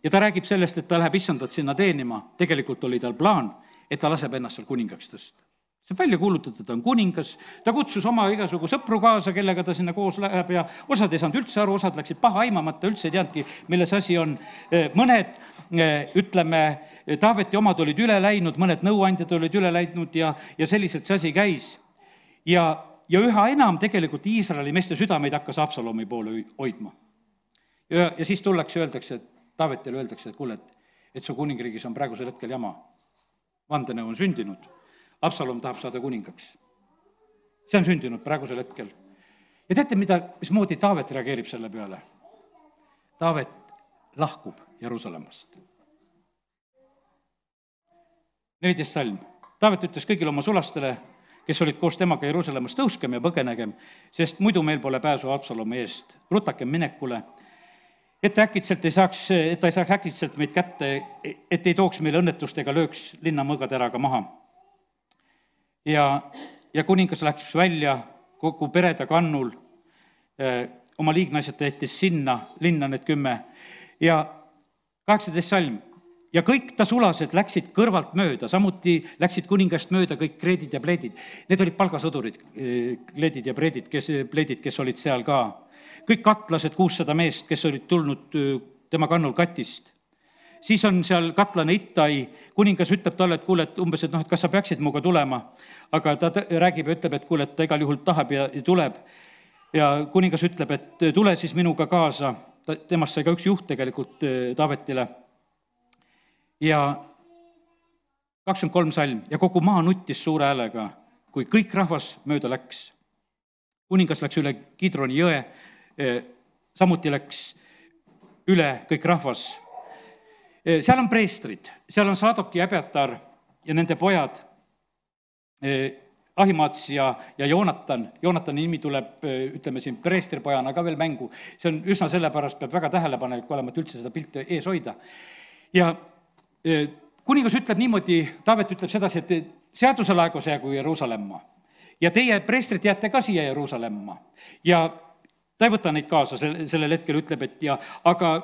ja ta räägib sellest, et ta läheb issandat sinna teenima. Tegelikult oli tal plaan, et ta laseb ennast seal kuningaks tõsta. See välja kuulutatud, ta on kuningas, ta kutsus oma igasugu sõpru kaasa, kellega ta sinna koos läheb ja osad ei saanud üldse aru, osad läksid paha aimamata, üldse ei teadki, milles asi on. Mõned, ütleme, Taaveti omad olid üle läinud, mõned nõuandjad olid üle läinud ja, ja selliselt see asi käis. Ja, ja üha enam tegelikult Iisraeli meeste südameid hakkas Absalomi poole hoidma. Ja, ja siis tullakse, öeldakse, et Taavetile öeldakse, et kuule, et, et su kuningriigis on praegusel hetkel jama. Vandenõu on sündinud. Absalom tahab saada kuningaks. See on sündinud praegusel hetkel. Ja teate, mida, mismoodi Taavet reageerib selle peale? Taavet lahkub Jeruusalemmast. neliteist salm. Taavet ütles kõigile oma sulastele, kes olid koos temaga Jeruusalemmast, tõuskem ja põgenegem, sest muidu meil pole pääsu Absalomi eest. Rutakem minekule, et äkitselt ei saaks, et ta ei saaks äkitselt meid kätte, et ei tooks meile õnnetust ega lööks linna mõõgateraga maha. Ja, ja kuningas läks välja kogu pereda kannul, oma liignaised tehtis sinna, linna need kümme. Ja kaheksateist salm. Ja kõik ta sulased läksid kõrvalt mööda, samuti läksid kuningast mööda kõik kreedid ja pleedid. Need olid palgasõdurid, kleedid ja pleedid, kes, pleedid, kes olid seal ka. Kõik katlased, kuussada meest, kes olid tulnud tema kannul katist. Siis on seal katlane Ittai, kuningas ütleb talle, et kuule, et umbes, et noh, et kas sa peaksid muga tulema, aga ta räägib ja ütleb, et kuule, et ta igal juhul tahab ja, ja tuleb. Ja kuningas ütleb, et tule siis minuga kaasa, temast sai ka üks juht tegelikult Taavetile. Ja kakskümmend kolm salm ja kogu maa nuttis suure häälega, kui kõik rahvas mööda läks. Kuningas läks üle Kidroni jõe, samuti läks üle kõik rahvas. Seal on preestrid, seal on Saadok ja Ebeatar ja nende pojad, Ahimaats ja, ja Joonatan. Joonatani nimi tuleb, ütleme siin, preestripojana ka veel mängu. See on üsna sellepärast, peab väga tähelepanelik olema, et üldse seda pilti ees hoida. Ja kuningas ütleb niimoodi, Taavet ütleb sedasi, et seaduse laegus jäägu Jeruusalemma. Ja teie preestrid jääte ka siia Jeruusalemma. Ja ta ei võta neid kaasa, sellel hetkel ütleb, et ja, aga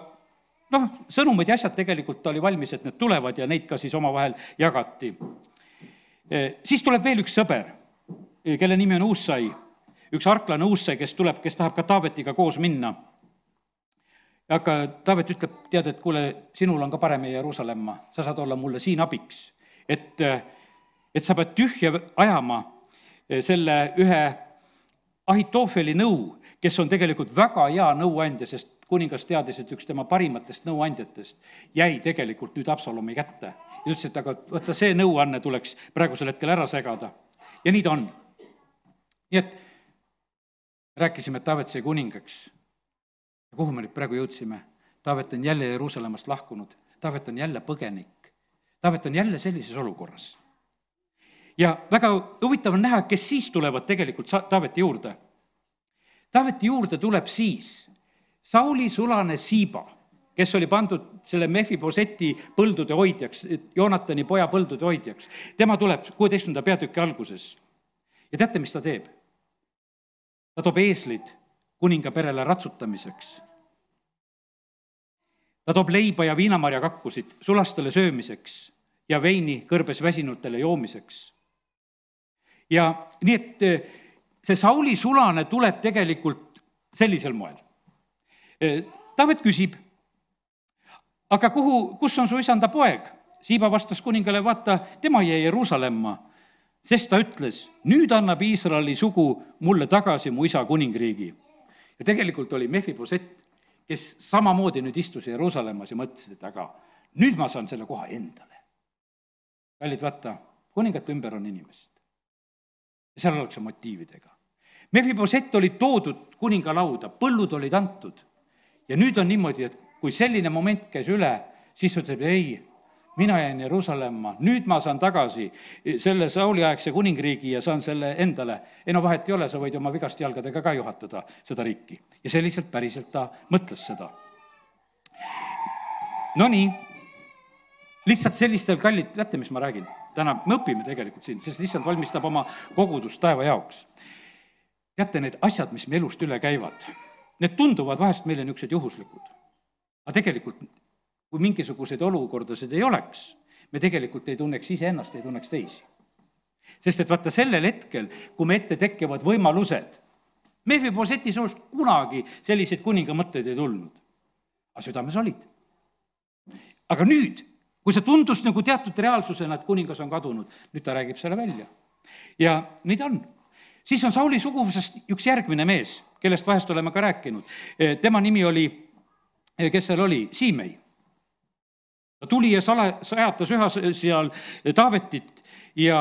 noh, sõnumid ja asjad tegelikult oli valmis, et need tulevad ja neid ka siis omavahel jagati. Siis tuleb veel üks sõber, kelle nimi on Uussai, üks arklane Uussai, kes tuleb, kes tahab ka Taavetiga koos minna. Aga Taavet ütleb, tead, et kuule, sinul on ka parem Jeruusalemma, sa saad olla mulle siin abiks, et, et sa pead tühja ajama selle ühe Ahitoofeli nõu, kes on tegelikult väga hea nõuandja, sest kuningas teadis, et üks tema parimatest nõuandjatest jäi tegelikult nüüd Absalomi kätte. Ja ütles, et aga võtta see nõuanne tuleks praegusel hetkel ära segada. Ja nii ta on. Nii et rääkisime, et Taavet sai kuningaks. Ja kuhu me nüüd praegu jõudsime? Taavet on jälle Jeruusalemmast lahkunud. Taavet on jälle põgenik. Taavet on jälle sellises olukorras. Ja väga huvitav on näha, kes siis tulevad tegelikult Taaveti juurde. Taaveti juurde tuleb siis Sauli sulane Siiba, kes oli pandud selle Mefiboseti põldude hoidjaks, Joonatani poja põldude hoidjaks. Tema tuleb kuueteistkümnenda peatüki alguses. Ja teate, mis ta teeb? Ta toob eeslid kuninga perele ratsutamiseks. Ta toob leiba ja viinamarja kakkusid sulastele söömiseks. ja veini kõrbes väsinutele joomiseks. Ja nii, et see Sauli sulane tuleb tegelikult sellisel moel. Taavet küsib, aga kuhu, kus on su isanda poeg? Siiba vastas kuningale, vaata, tema jäi Jeruusalemma, sest ta ütles, nüüd annab Iisraeli sugu mulle tagasi mu isa kuningriigi. Ja tegelikult oli Mefibosett, kes samamoodi nüüd istus Jeruusalemmas ja mõtles, et aga nüüd ma saan selle koha endale. Kallid, vaata, kuningate ümber on inimesed. Ja seal oleks motiividega. Mefibosett oli toodud kuningalauda, põllud olid antud. Ja nüüd on niimoodi, et kui selline moment käis üle, siis ütleb, ei, mina jäin Jeruusalemma, nüüd ma saan tagasi selle Sauli-aegse kuningriigi ja saan selle endale. Ei no vahet ei ole, sa võid oma vigast jalgadega ka juhatada seda riiki. Ja selliselt päriselt ta mõtles seda. No nii, lihtsalt sellistel kallid, teate, mis ma räägin? Täna me õpime tegelikult siin, sest lihtsalt valmistab oma kogudust taeva jaoks. Teate, need asjad, mis me elust üle käivad, need tunduvad vahest meile niisugused juhuslikud. Aga tegelikult, kui mingisuguseid olukordasid ei oleks, me tegelikult ei tunneks ise ennast, ei tunneks teisi. Sest et vaata sellel hetkel, kui me ette tekkevad võimalused, Mefiboseti soost kunagi selliseid kuninga mõtteid ei tulnud. Aga südames olid. Aga nüüd, kui see tundus nagu teatud reaalsusena, et kuningas on kadunud, nüüd ta räägib selle välja. Ja nii ta on. Siis on Sauli suguvusest üks järgmine mees, kellest vahest oleme ka rääkinud. Tema nimi oli, kes seal oli, Siimei. Ta tuli ja sala, sajatas üha seal Taavetit ja,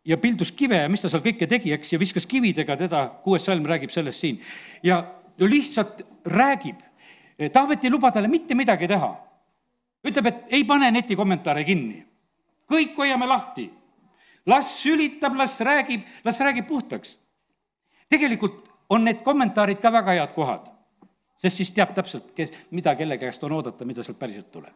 ja pildus kive ja mis ta seal kõike tegi, eks, ja viskas kividega teda, kuues salm räägib sellest siin. Ja lihtsalt räägib. Taavet ei luba talle mitte midagi teha. Ütleb, et ei pane neti kommentaare kinni. Kõik hoiame lahti. Las sülitab, las räägib, las räägib puhtaks. Tegelikult on need kommentaarid ka väga head kohad, sest siis teab täpselt, kes, mida kelle käest on oodata, mida sealt päriselt tuleb.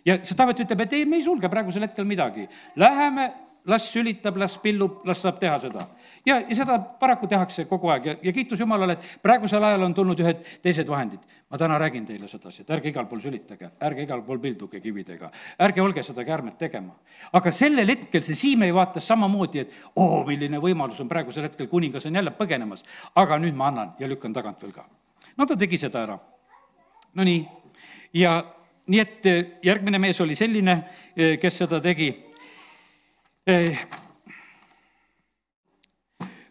Ja see Taavet ütleb, et ei, me ei sulge praegusel hetkel midagi. Läheme, las sülitab, las pillub, las saab teha seda. Ja, ja seda paraku tehakse kogu aeg ja, ja kiitus Jumalale, et praegusel ajal on tulnud ühed teised vahendid. Ma täna räägin teile sedasi, et ärge igal pool sülitage, ärge igal pool pilduge kividega, ärge olge seda käärmet tegema. Aga sellel hetkel see Siimei vaatas samamoodi, et oo, milline võimalus on praegusel hetkel, kuningas on jälle põgenemas, aga nüüd ma annan ja lükkan tagant veel ka. No ta tegi seda ära. No nii, ja nii et järgmine mees oli selline, kes seda tegi.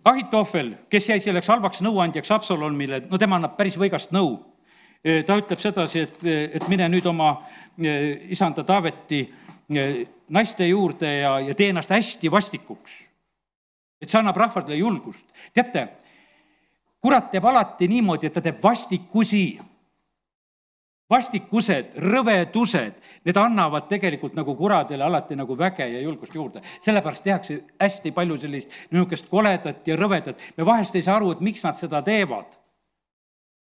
Ahitofel, kes jäi selleks halvaks nõuandjaks Absalomile, no tema annab päris võigast nõu. Ta ütleb sedasi, et, et mine nüüd oma isanda Taaveti naiste juurde ja, ja tee ennast hästi vastikuks. Et see annab rahvadele julgust. Teate, kurat teeb alati niimoodi, et ta teeb vastikusi. Vastikused, rõvedused, need annavad tegelikult nagu kuradele alati nagu väge ja julgust juurde. Sellepärast tehakse hästi palju sellist niisugust koledat ja rõvedat. Me vahest ei saa aru, et miks nad seda teevad.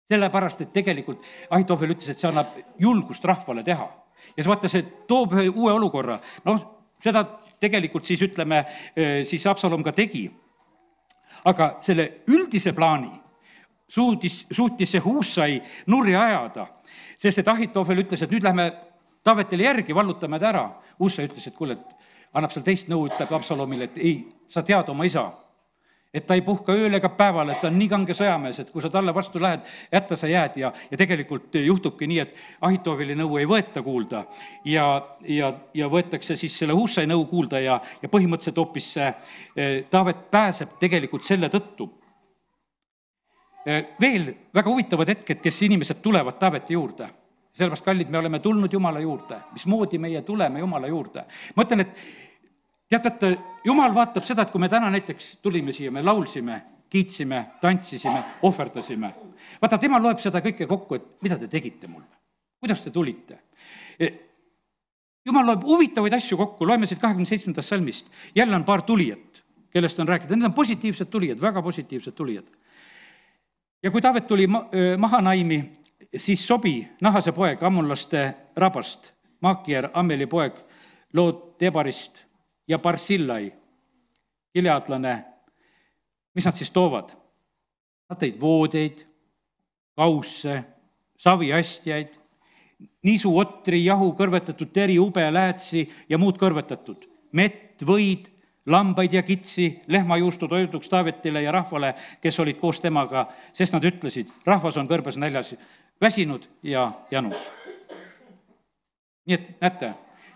Sellepärast, et tegelikult Ahitofel ütles, et see annab julgust rahvale teha. Ja see vaata, see toob ühe uue olukorra. No seda tegelikult siis ütleme, siis Absalom ka tegi. Aga selle üldise plaani suutis, suutis see Huusai nurri ajada. Sest et Ahitofel ütles, et nüüd lähme Taavetile järgi, vallutame ta ära. Huusai ütles, et kuule, et annab seal teist nõu, ütleb Absalomile, et ei, sa tead oma isa, et ta ei puhka ööl ega päeval, et ta on nii kange sõjamees, et kui sa talle vastu lähed, jätta sa jääd ja, ja tegelikult juhtubki nii, et Ahitofeli nõu ei võeta kuulda ja, ja, ja võetakse siis selle Huusai nõu kuulda ja, ja põhimõtteliselt hoopis see Taavet pääseb tegelikult selle tõttu. Veel väga huvitavad hetked, kes inimesed tulevad Taaveti juurde. Sellepärast, kallid, me oleme tulnud Jumala juurde. Mismoodi meie tuleme Jumala juurde? Ma ütlen, et teatate, Jumal vaatab seda, et kui me täna näiteks tulime siia, me laulsime, kiitsime, tantsisime, ohverdasime. Vaata, tema loeb seda kõike kokku, et mida te tegite mulle? Kuidas te tulite? Jumal loeb huvitavaid asju kokku, loeme siit kahekümne seitsmendast salmist. Jälle on paar tulijat, kellest on rääkida. Need on positiivsed tulijad, väga positiivsed tulijad. Ja kui Taavet tuli Mahanaimi, siis Sobi, Nahase poeg, ammonlaste rabast, Maakier, Ammeli poeg, Lood Tebarist ja Barsillai, gileadlane, mis nad siis toovad? Nad tõid voodeid, kausse, saviastjaid, nisu, otri, jahu, kõrvetatud teri, ube, läätsi ja muud kõrvetatud, mett, võid, lambaid ja kitsi, lehmajuustu toiduks Taavetile ja rahvale, kes olid koos temaga, sest nad ütlesid, rahvas on kõrbes näljas, väsinud ja janus. Nii et näete,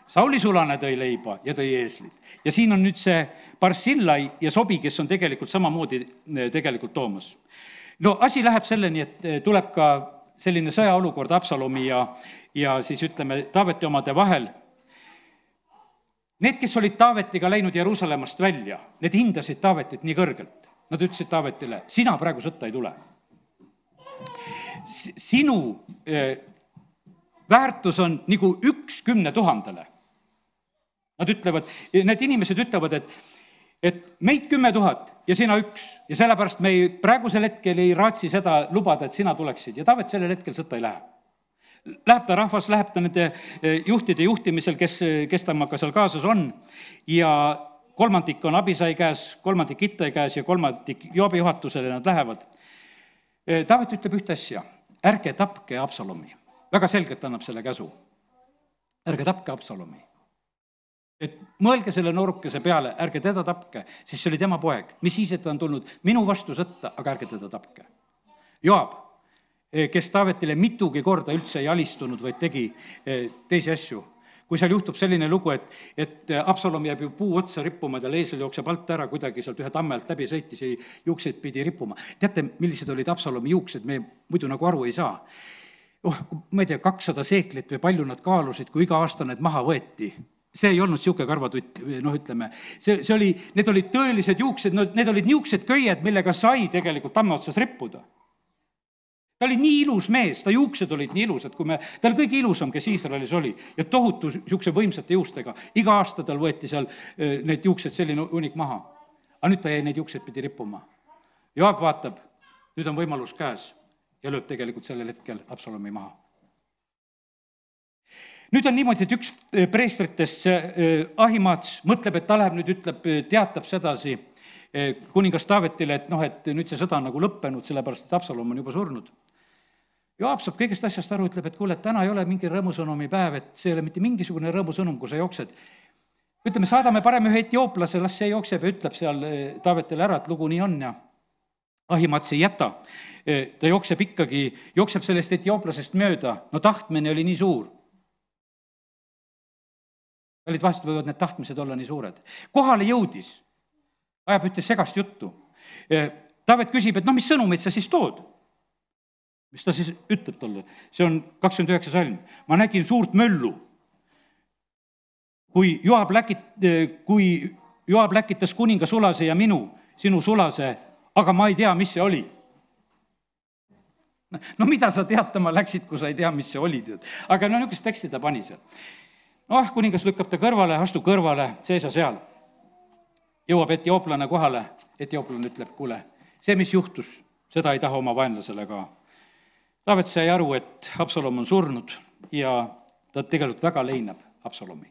Sauli sulane tõi leiba ja tõi eeslid. Ja siin on nüüd see Barsillai ja Sobi, kes on tegelikult samamoodi tegelikult toomas. No asi läheb selleni, et tuleb ka selline sõjaolukord Absalomi ja, ja siis ütleme Taaveti omade vahel. Need, kes olid Taavetiga läinud Jeruusalemmast välja, need hindasid Taavetit nii kõrgelt. Nad ütlesid Taavetile, sina praegu sõtta ei tule. Sinu eh, väärtus on nagu üks kümne tuhandele. Nad ütlevad, need inimesed ütlevad, et, et meid kümme tuhat ja sina üks. Ja sellepärast me ei, praegusel hetkel ei raatsi seda lubada, et sina tuleksid. Ja Taavet sellel hetkel sõtta ei lähe. Läheb ta rahvas, läheb ta nende juhtide juhtimisel, kes, kes temaga seal kaasas on. Ja kolmandik on Abisai käes, kolmandik Ittai käes ja kolmandik Joobi juhatusele nad lähevad. Taavet ütleb ühte asja, ärge tapke Absalomi. Väga selgelt annab selle käsu. Ärge tapke Absalomi. Et mõelge selle noorukese peale, ärge teda tapke, siis see oli tema poeg. Mis siis, et ta on tulnud minu vastu sõtta, aga ärge teda tapke. Joab, kes Taavetile mitugi korda üldse ei alistunud, vaid tegi teisi asju. Kui seal juhtub selline lugu, et, et Absalom jääb ju puu otsa rippuma, tal eesel jookseb alt ära, kuidagi sealt ühe tamme alt läbi sõitis ja juukseid pidi rippuma. Teate, millised olid Absalomi juuksed, me muidu nagu aru ei saa. Oh, ma ei tea, kakssada seeklit või palju nad kaalusid, kui iga aasta need maha võeti. See ei olnud siuke karvatutt, noh ütleme, see, see oli, need olid tõelised juuksed, no, need olid niuksed köied, millega sai tegelikult tamme otsas rippuda. Ta oli nii ilus mees, ta juuksed olid nii ilusad, kui me, ta oli kõige ilusam, kes Iisraelis oli ja tohutu siukse võimsate juustega. Iga aasta tal võeti seal need juuksed selline unik maha. Aga nüüd ta jäi neid juuksed pidi rippuma. Joab vaatab, nüüd on võimalus käes ja lööb tegelikult sellel hetkel Absalomi maha. Nüüd on niimoodi, et üks preestritest Ahimaats mõtleb, et ta läheb nüüd, ütleb, teatab sedasi kuningas Taavetile, et noh, et nüüd see sõda on nagu lõppenud, sellepärast, et Absalom on juba surnud. Joab saab kõigest asjast aru, ütleb, et kuule, et täna ei ole mingi rõõmusõnumi päev, et see ei ole mitte mingisugune rõõmusõnum, kui sa jooksed. Ütleme, saadame parem ühe etioplase, las see jookseb ja ütleb seal Taavetile ära, et lugu nii on ja Ahimaats ei jäta. Ta jookseb ikkagi, jookseb sellest etioplasest mööda, no tahtmine oli nii suur. Olid vahest võivad need tahtmised olla nii suured. Kohale jõudis, ajab ütles segast juttu. Taavet küsib, et no mis sõnumid sa siis tood? Mis ta siis ütleb talle? See on kakskümmend üheksa salm. Ma nägin suurt möllu. Kui Joab, läkit, kui Joab läkitas kuninga sulase ja minu, sinu sulase, aga ma ei tea, mis see oli. No mida sa teatama läksid, kui sa ei tea, mis see oli? Aga no niisugust teksti ta pani seal. Noh, kuningas lükkab ta kõrvale, astu kõrvale, seisa seal. Jõuab etioplane kohale, etioplane ütleb, kuule, see, mis juhtus, seda ei taha oma vaenlasele ka. Taavet sai aru, et Absalom on surnud ja ta tegelikult väga leinab Absalomi.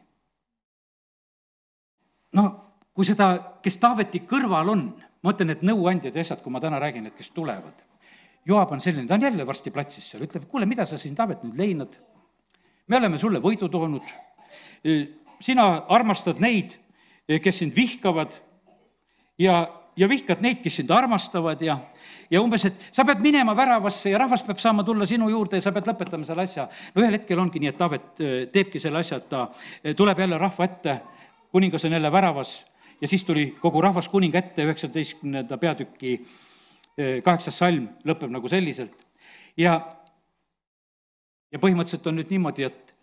No, kui seda, kes Taaveti kõrval on, ma mõtlen, et nõuandjad ja asjad, kui ma täna räägin, et kes tulevad. Joab on selline, ta on jälle varsti platsis seal, ütleb, kuule, mida sa siin Taavet nüüd leinad? Me oleme sulle võidu toonud. Sina armastad neid, kes sind vihkavad ja, ja vihkad neid, kes sind armastavad ja, ja umbes, et sa pead minema väravasse ja rahvas peab saama tulla sinu juurde ja sa pead lõpetama selle asja. No ühel hetkel ongi nii, et Taavet teebki selle asja, et ta tuleb jälle rahva ette, kuningas on jälle väravas ja siis tuli kogu rahvas kuninga ette, üheksateistkümnenda peatüki kaheksas salm lõpeb nagu selliselt. Ja, ja põhimõtteliselt on nüüd niimoodi, et,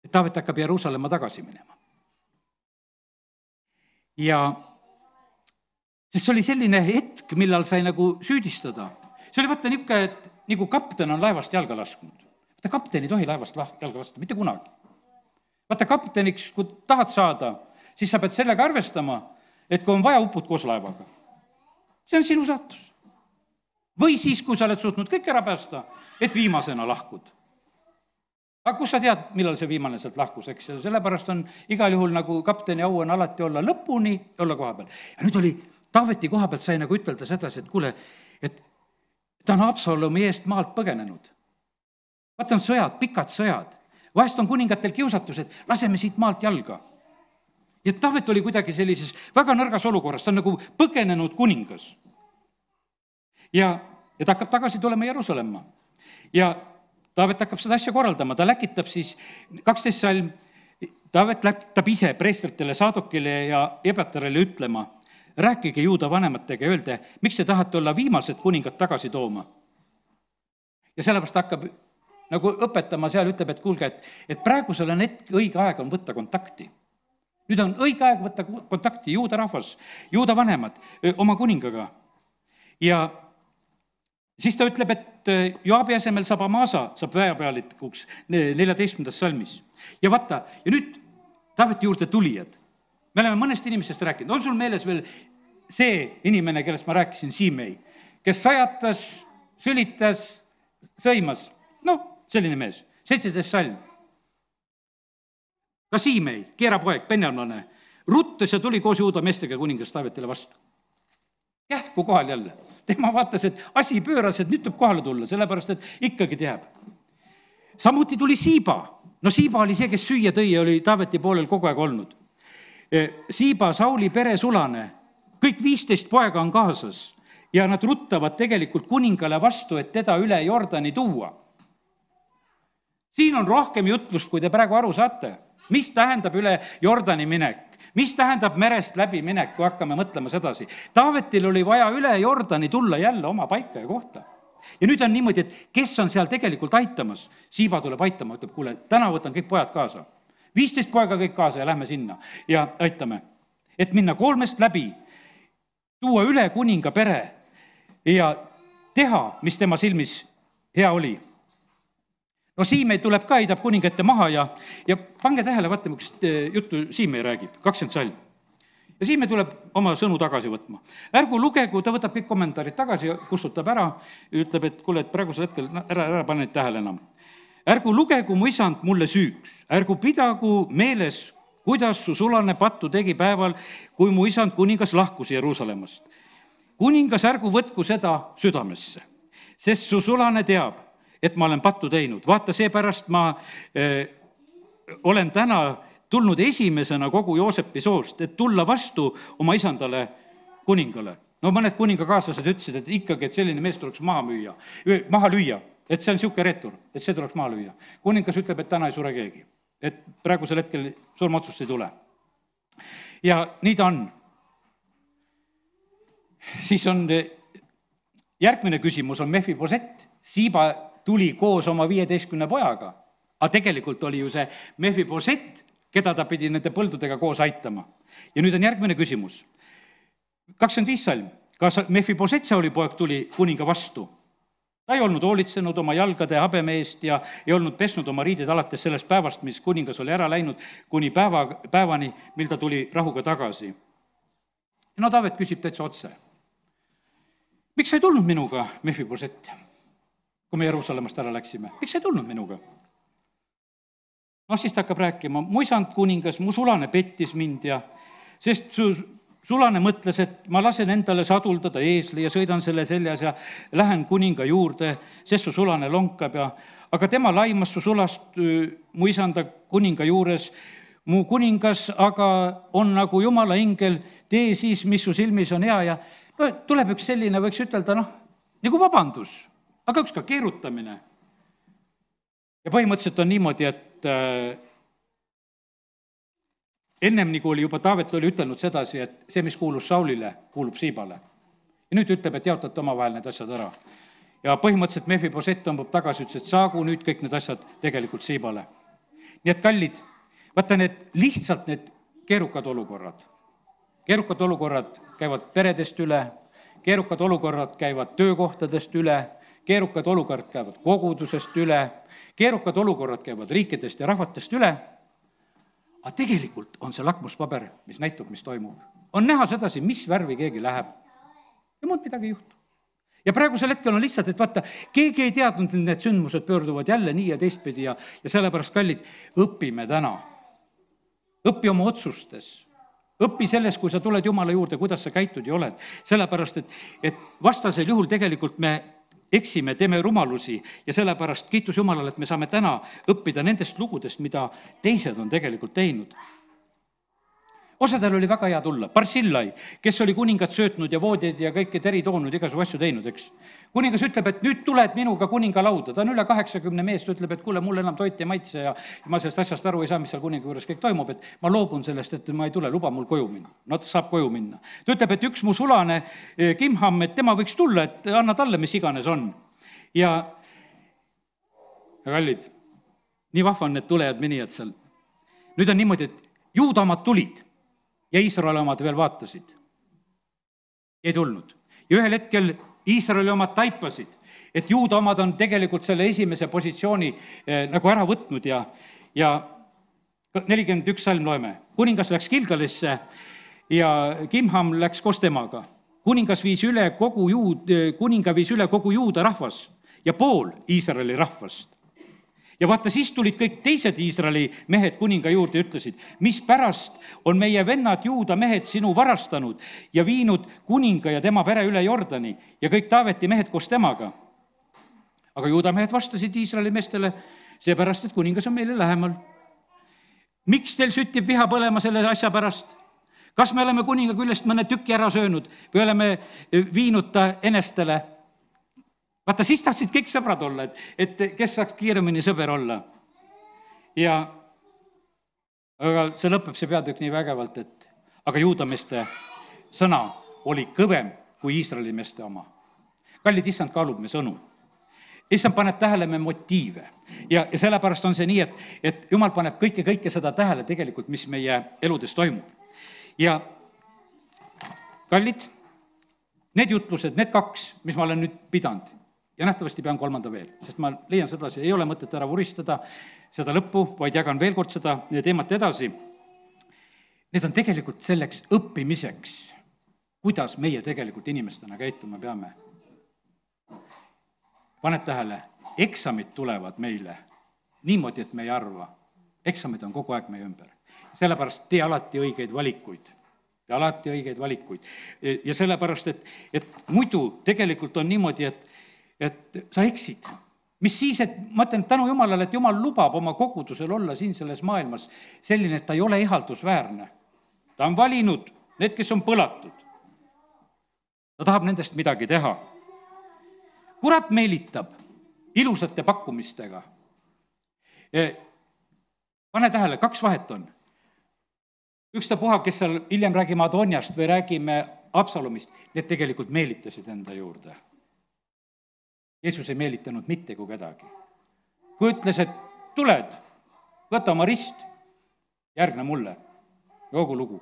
et Taavet hakkab Jeruusalemma tagasi minema. Ja sest see oli selline hetk, millal sai nagu süüdistada. See oli võtta niisugune, et nagu kapten on laevast jalga lasknud. Vaata, kapten ei tohi laevast jalga lasta, mitte kunagi. Vaata, kapteniks, kui tahad saada, siis sa pead sellega arvestama, et kui on vaja, upud koos laevaga. See on sinu saatus. Või siis, kui sa oled suutnud kõik ära päästa, et viimasena lahkud. Aga kus sa tead, millal see viimane sealt lahkus, eks? Ja sellepärast on igal juhul nagu kapteni au on alati olla lõpuni, olla koha peal. Ja nüüd oli Taaveti koha pealt sai nagu ütelda sedasi, et kuule, et ta on Absalomi eest maalt põgenenud. vaata, on sõjad, pikad sõjad. Vahest on kuningatel kiusatus, et laseme siit maalt jalga. Ja Taavet oli kuidagi sellises väga nõrgas olukorras, ta on nagu põgenenud kuningas. Ja, ja ta hakkab tagasi tulema Jeruusalemma. Ja Taavet hakkab seda asja korraldama, ta läkitab siis kaksteist salm, Taavet läkitab ise preestritele, Saadokile ja Ebatarile ütlema, rääkige juuda vanematega ja öelge, miks te tahate olla viimased kuningad tagasi tooma. Ja sellepärast hakkab nagu õpetama seal, ütleb, et kuulge, et, et praegusel on hetk, õige aeg on võtta kontakti. Nüüd on õige aeg võtta kontakti juuda rahvas, juuda vanemad oma kuningaga. Ja siis ta ütleb, et Joabi asemel saab Amasa, saab väepealikuks neljateistkümnendas salmis. Ja vaata, ja nüüd Taaveti juurde tulijad. Me oleme mõnest inimesest rääkinud. On sul meeles veel see inimene, kellest ma rääkisin, Siimei, kes sajatas, sülitas, sõimas? No, selline mees, seitseteist salm. Ka Siimei, keerapoeg, penjamlane, ruttas ja tuli koos juuda meestega kuningas Taavetile vastu. Kähku kohal jälle. Tema vaatas, et asi pööras, et nüüd tuleb kohale tulla, sellepärast, et ikkagi teab. Samuti tuli Siiba. No Siiba oli see, kes süüa tõi ja oli Taaveti poolel kogu aeg olnud. Siiba, Sauli pere sulane, kõik viisteist poega on kaasas ja nad ruttavad tegelikult kuningale vastu, et teda üle Jordani tuua. Siin on rohkem jutlust, kui te praegu aru saate. Mis tähendab üle Jordani minek? Mis tähendab merest läbi minek, kui hakkame mõtlema sedasi? Taavetil oli vaja üle Jordani tulla jälle oma paika ja kohta. Ja nüüd on niimoodi, et kes on seal tegelikult aitamas? Siiba tuleb aitama, ütleb, kuule, täna võtan kõik pojad kaasa. viisteist poega kõik kaasa ja lähme sinna ja aitame. Et minna kolmest läbi, tuua üle kuninga pere ja teha, mis tema silmis hea oli. No Siimei tuleb ka, heidab kuningate maha ja, ja pange tähele, vaata, mis juttu Siimei räägib, kakskümmend salm. Ja Siimei tuleb oma sõnu tagasi võtma. Ärgu lugegu, ta võtab kõik kommentaarid tagasi ja kustutab ära, ütleb, et kuule, et praegusel hetkel ära, ära pane tähele enam. Ärgu lugegu mu isand mulle süüks, ärgu pidagu meeles, kuidas su sulane pattu tegi päeval, kui mu isand kuningas lahkus Jeruusalemmast. Kuningas ärgu võtku seda südamesse, sest su sulane teab, et ma olen pattu teinud. Vaata, seepärast ma eh, olen täna tulnud esimesena kogu Joosepi soost, et tulla vastu oma isandale kuningale. No mõned kuningakaaslased ütlesid, et ikkagi, et selline mees tuleks maha müüa, maha lüüa, et see on siuke retur, et see tuleks maha lüüa. Kuningas ütleb, et täna ei sure keegi, et praegusel hetkel surmaotsust ei tule. Ja nii ta on. Siis on järgmine küsimus on Mefibosett. Siiba tuli koos oma viieteistkümne pojaga, aga tegelikult oli ju see Mefibosett, keda ta pidi nende põldudega koos aitama. Ja nüüd on järgmine küsimus. kakskümmend viis salm. Kas Mefibosett oli poeg tuli kuninga vastu? Ta ei olnud hoolitsenud oma jalgade habeme eest ja ei olnud pesnud oma riided alates sellest päevast, mis kuningas oli ära läinud, kuni päeva, päevani, mil ta tuli rahuga tagasi. No Taavet küsib täitsa otse. Miks sa ei tulnud minuga, Mefibosett, kui me Jeruusalemmast ära läksime? Miks sa ei tulnud minuga? No siis ta hakkab rääkima, mu isand kuningas, mu sulane pettis mind ja sest su sulane mõtles, et ma lasen endale saduldada eesli ja sõidan selle seljas ja lähen kuninga juurde, sest su sulane lonkab ja, aga tema laimas su sulast mu isanda kuninga juures. Mu kuningas aga on nagu Jumala ingel, tee siis, mis su silmis on hea ja no, tuleb üks selline, võiks ütelda, noh, nagu vabandus, aga üks ka keerutamine. Ja põhimõtteliselt on niimoodi, et äh, ennem nagu oli juba Taavet oli ütelnud sedasi, et see, mis kuulus Saulile, kuulub Siibale. Ja nüüd ütleb, et jaotate omavahel need asjad ära. Ja põhimõtteliselt Mefibosett tõmbab tagasi, ütles, et saagu nüüd kõik need asjad tegelikult Siibale. Nii et kallid, vaata need lihtsalt need keerukad olukorrad. Keerukad olukorrad käivad peredest üle, keerukad olukorrad käivad töökohtadest üle, keerukad olukorrad käivad kogudusest üle, keerukad olukorrad käivad riikidest ja rahvatest üle, aga tegelikult on see lakmuspaber, mis näitab, mis toimub. On näha sedasi, mis värvi keegi läheb ja muud midagi ei juhtu. Ja praegusel hetkel on lihtsalt, et vaata, keegi ei teadnud, et need sündmused pöörduvad jälle nii ja teistpidi ja, ja sellepärast, kallid, õpime täna. Õpi oma otsustes. Õpi selles, kui sa tuled Jumala juurde, kuidas sa käitud ja oled. Sellepärast, et, et vastasel juhul tegelikult me eksime, teeme rumalusi ja sellepärast kiitus Jumalale, et me saame täna õppida nendest lugudest, mida teised on tegelikult teinud. Osadel oli väga hea tulla. Barsillai, kes oli kuningat söötnud ja voodid ja kõike teri toonud, igasugu asju teinud, eks. Kuningas ütleb, et nüüd tuled minuga kuninga lauda. Ta on üle kaheksakümne meest, ütleb, et kuule, mul enam toit ei maitse ja ma sellest asjast aru ei saa, mis seal kuninga juures kõik toimub, et ma loobun sellest, et ma ei tule, luba mul koju minna. No ta saab koju minna. Ta ütleb, et üks mu sulane Kimham, et tema võiks tulla, et anna talle, mis iganes on. Ja, ja kallid, nii vahva on need tulejad minijad seal. Nüüd on niimoodi, et juuda omad tulid ja Iisraeli omad veel vaatasid. Ei tulnud. Ja ühel hetkel Iisraeli omad taipasid, et juuda omad on tegelikult selle esimese positsiooni eh, nagu ära võtnud ja, ja nelikümmend üks salm loeme. Kuningas läks Gilgalisse ja Kimham läks koos temaga. Kuningas viis üle kogu juud, kuninga viis üle kogu juuda rahvas ja pool Iisraeli rahvast. Ja vaata, siis tulid kõik teised Iisraeli mehed kuninga juurde ja ütlesid, mis pärast on meie vennad juuda mehed sinu varastanud ja viinud kuninga ja tema pere üle Jordani ja kõik Taaveti mehed koos temaga. Aga juuda mehed vastasid Iisraeli meestele, seepärast, et kuningas on meile lähemal. Miks teil süttib viha põlema selle asja pärast? Kas me oleme kuninga küljest mõne tüki ära söönud või oleme viinud ta enestele? Vaata, siis tahtsid kõik sõbrad olla, et, et kes saaks kiiremini sõber olla. Ja aga see lõpeb see peatükk nii vägevalt, et aga juudameeste sõna oli kõvem kui Iisraeli meeste oma. Kallid, issand kaalub me sõnu. Issand paneb tähele me motiive. Ja, ja sellepärast on see nii, et, et Jumal paneb kõike, kõike seda tähele tegelikult, mis meie eludes toimub. Ja kallid, need jutlused, need kaks, mis ma olen nüüd pidanud, ja nähtavasti pean kolmanda veel, sest ma leian sedasi, ei ole mõtet ära vuristada seda lõppu, vaid jagan veel kord seda teemat edasi. Need on tegelikult selleks õppimiseks, kuidas meie tegelikult inimestena käituma peame. Paned tähele, eksamid tulevad meile niimoodi, et me ei arva. Eksamid on kogu aeg meie ümber. Sellepärast tee alati õigeid valikuid. Ja alati õigeid valikuid. Ja sellepärast, et, et muidu tegelikult on niimoodi, et et sa eksid. Mis siis, et ma ütlen tänu Jumalale, et Jumal lubab oma kogudusel olla siin selles maailmas selline, et ta ei ole ihaldusväärne. Ta on valinud need, kes on põlatud. Ta tahab nendest midagi teha. Kurat meelitab ilusate pakkumistega. Pane tähele, kaks vahet on. Üks ta puha, kes seal hiljem räägime Adoniast või räägime Absalomist, need tegelikult meelitasid enda juurde. Jeesus ei meelitanud mitte kui kedagi. Kui ütles, et tuled, võta oma rist, järgne mulle, joogu lugu.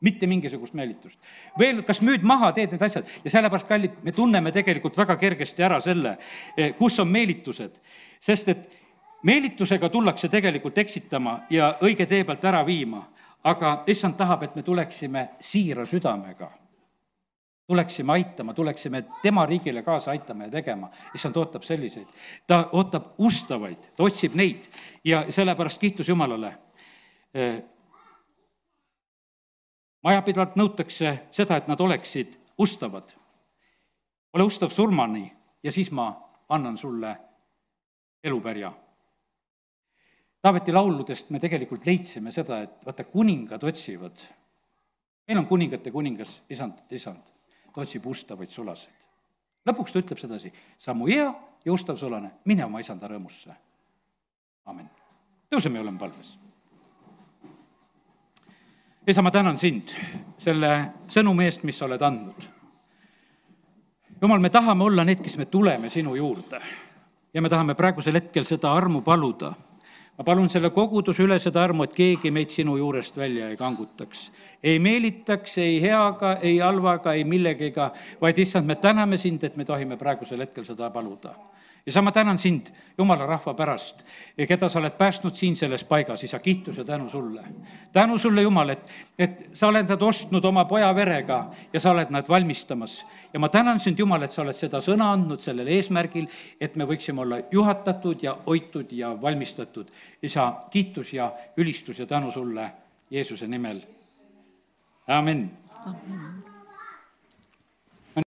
Mitte mingisugust meelitust. Veel, kas müüd maha, teed need asjad. Ja sellepärast, kallid, me tunneme tegelikult väga kergesti ära selle, kus on meelitused. Sest et meelitusega tullakse tegelikult eksitama ja õige tee pealt ära viima. Aga issand tahab, et me tuleksime siira südamega. Tuleksime aitama, tuleksime tema riigile kaasa aitama ja tegema. Issand ootab selliseid. Ta ootab ustavaid, ta otsib neid ja sellepärast kiitus Jumalale. Majapidavalt nõutakse seda, et nad oleksid ustavad. Ole ustav surmani ja siis ma annan sulle elupärja. Taaveti lauludest me tegelikult leidsime seda, et vaata, kuningad otsivad. Meil on kuningate kuningas, isand, isand. Ta otsib ustavaid sulaseid. Lõpuks ta ütleb sedasi, sa mu hea ja ustav sulane, mine oma isanda rõõmusse. Amen. Tõuseme ja oleme palves. Isa, ma tänan sind selle sõnumi eest, mis sa oled andnud. Jumal, me tahame olla need, kes me tuleme sinu juurde ja me tahame praegusel hetkel seda armu paluda. Ma palun selle koguduse üle seda armu, et keegi meid sinu juurest välja ei kangutaks. Ei meelitaks, ei heaga, ei halvaga, ei millegiga, vaid issand, me täname sind, et me tohime praegusel hetkel seda paluda. Ja sa ma tänan sind Jumala rahva pärast, keda sa oled päästnud siin selles paigas, isa, kiitus ja tänu sulle. Tänu sulle, Jumal, et, et sa oled nad ostnud oma poja verega ja sa oled nad valmistamas. Ja ma tänan sind, Jumal, et sa oled seda sõna andnud sellel eesmärgil, et me võiksime olla juhatatud ja hoitud ja valmistatud. Isa, kiitus ja ülistus ja tänu sulle Jeesuse nimel. Amen. Amen.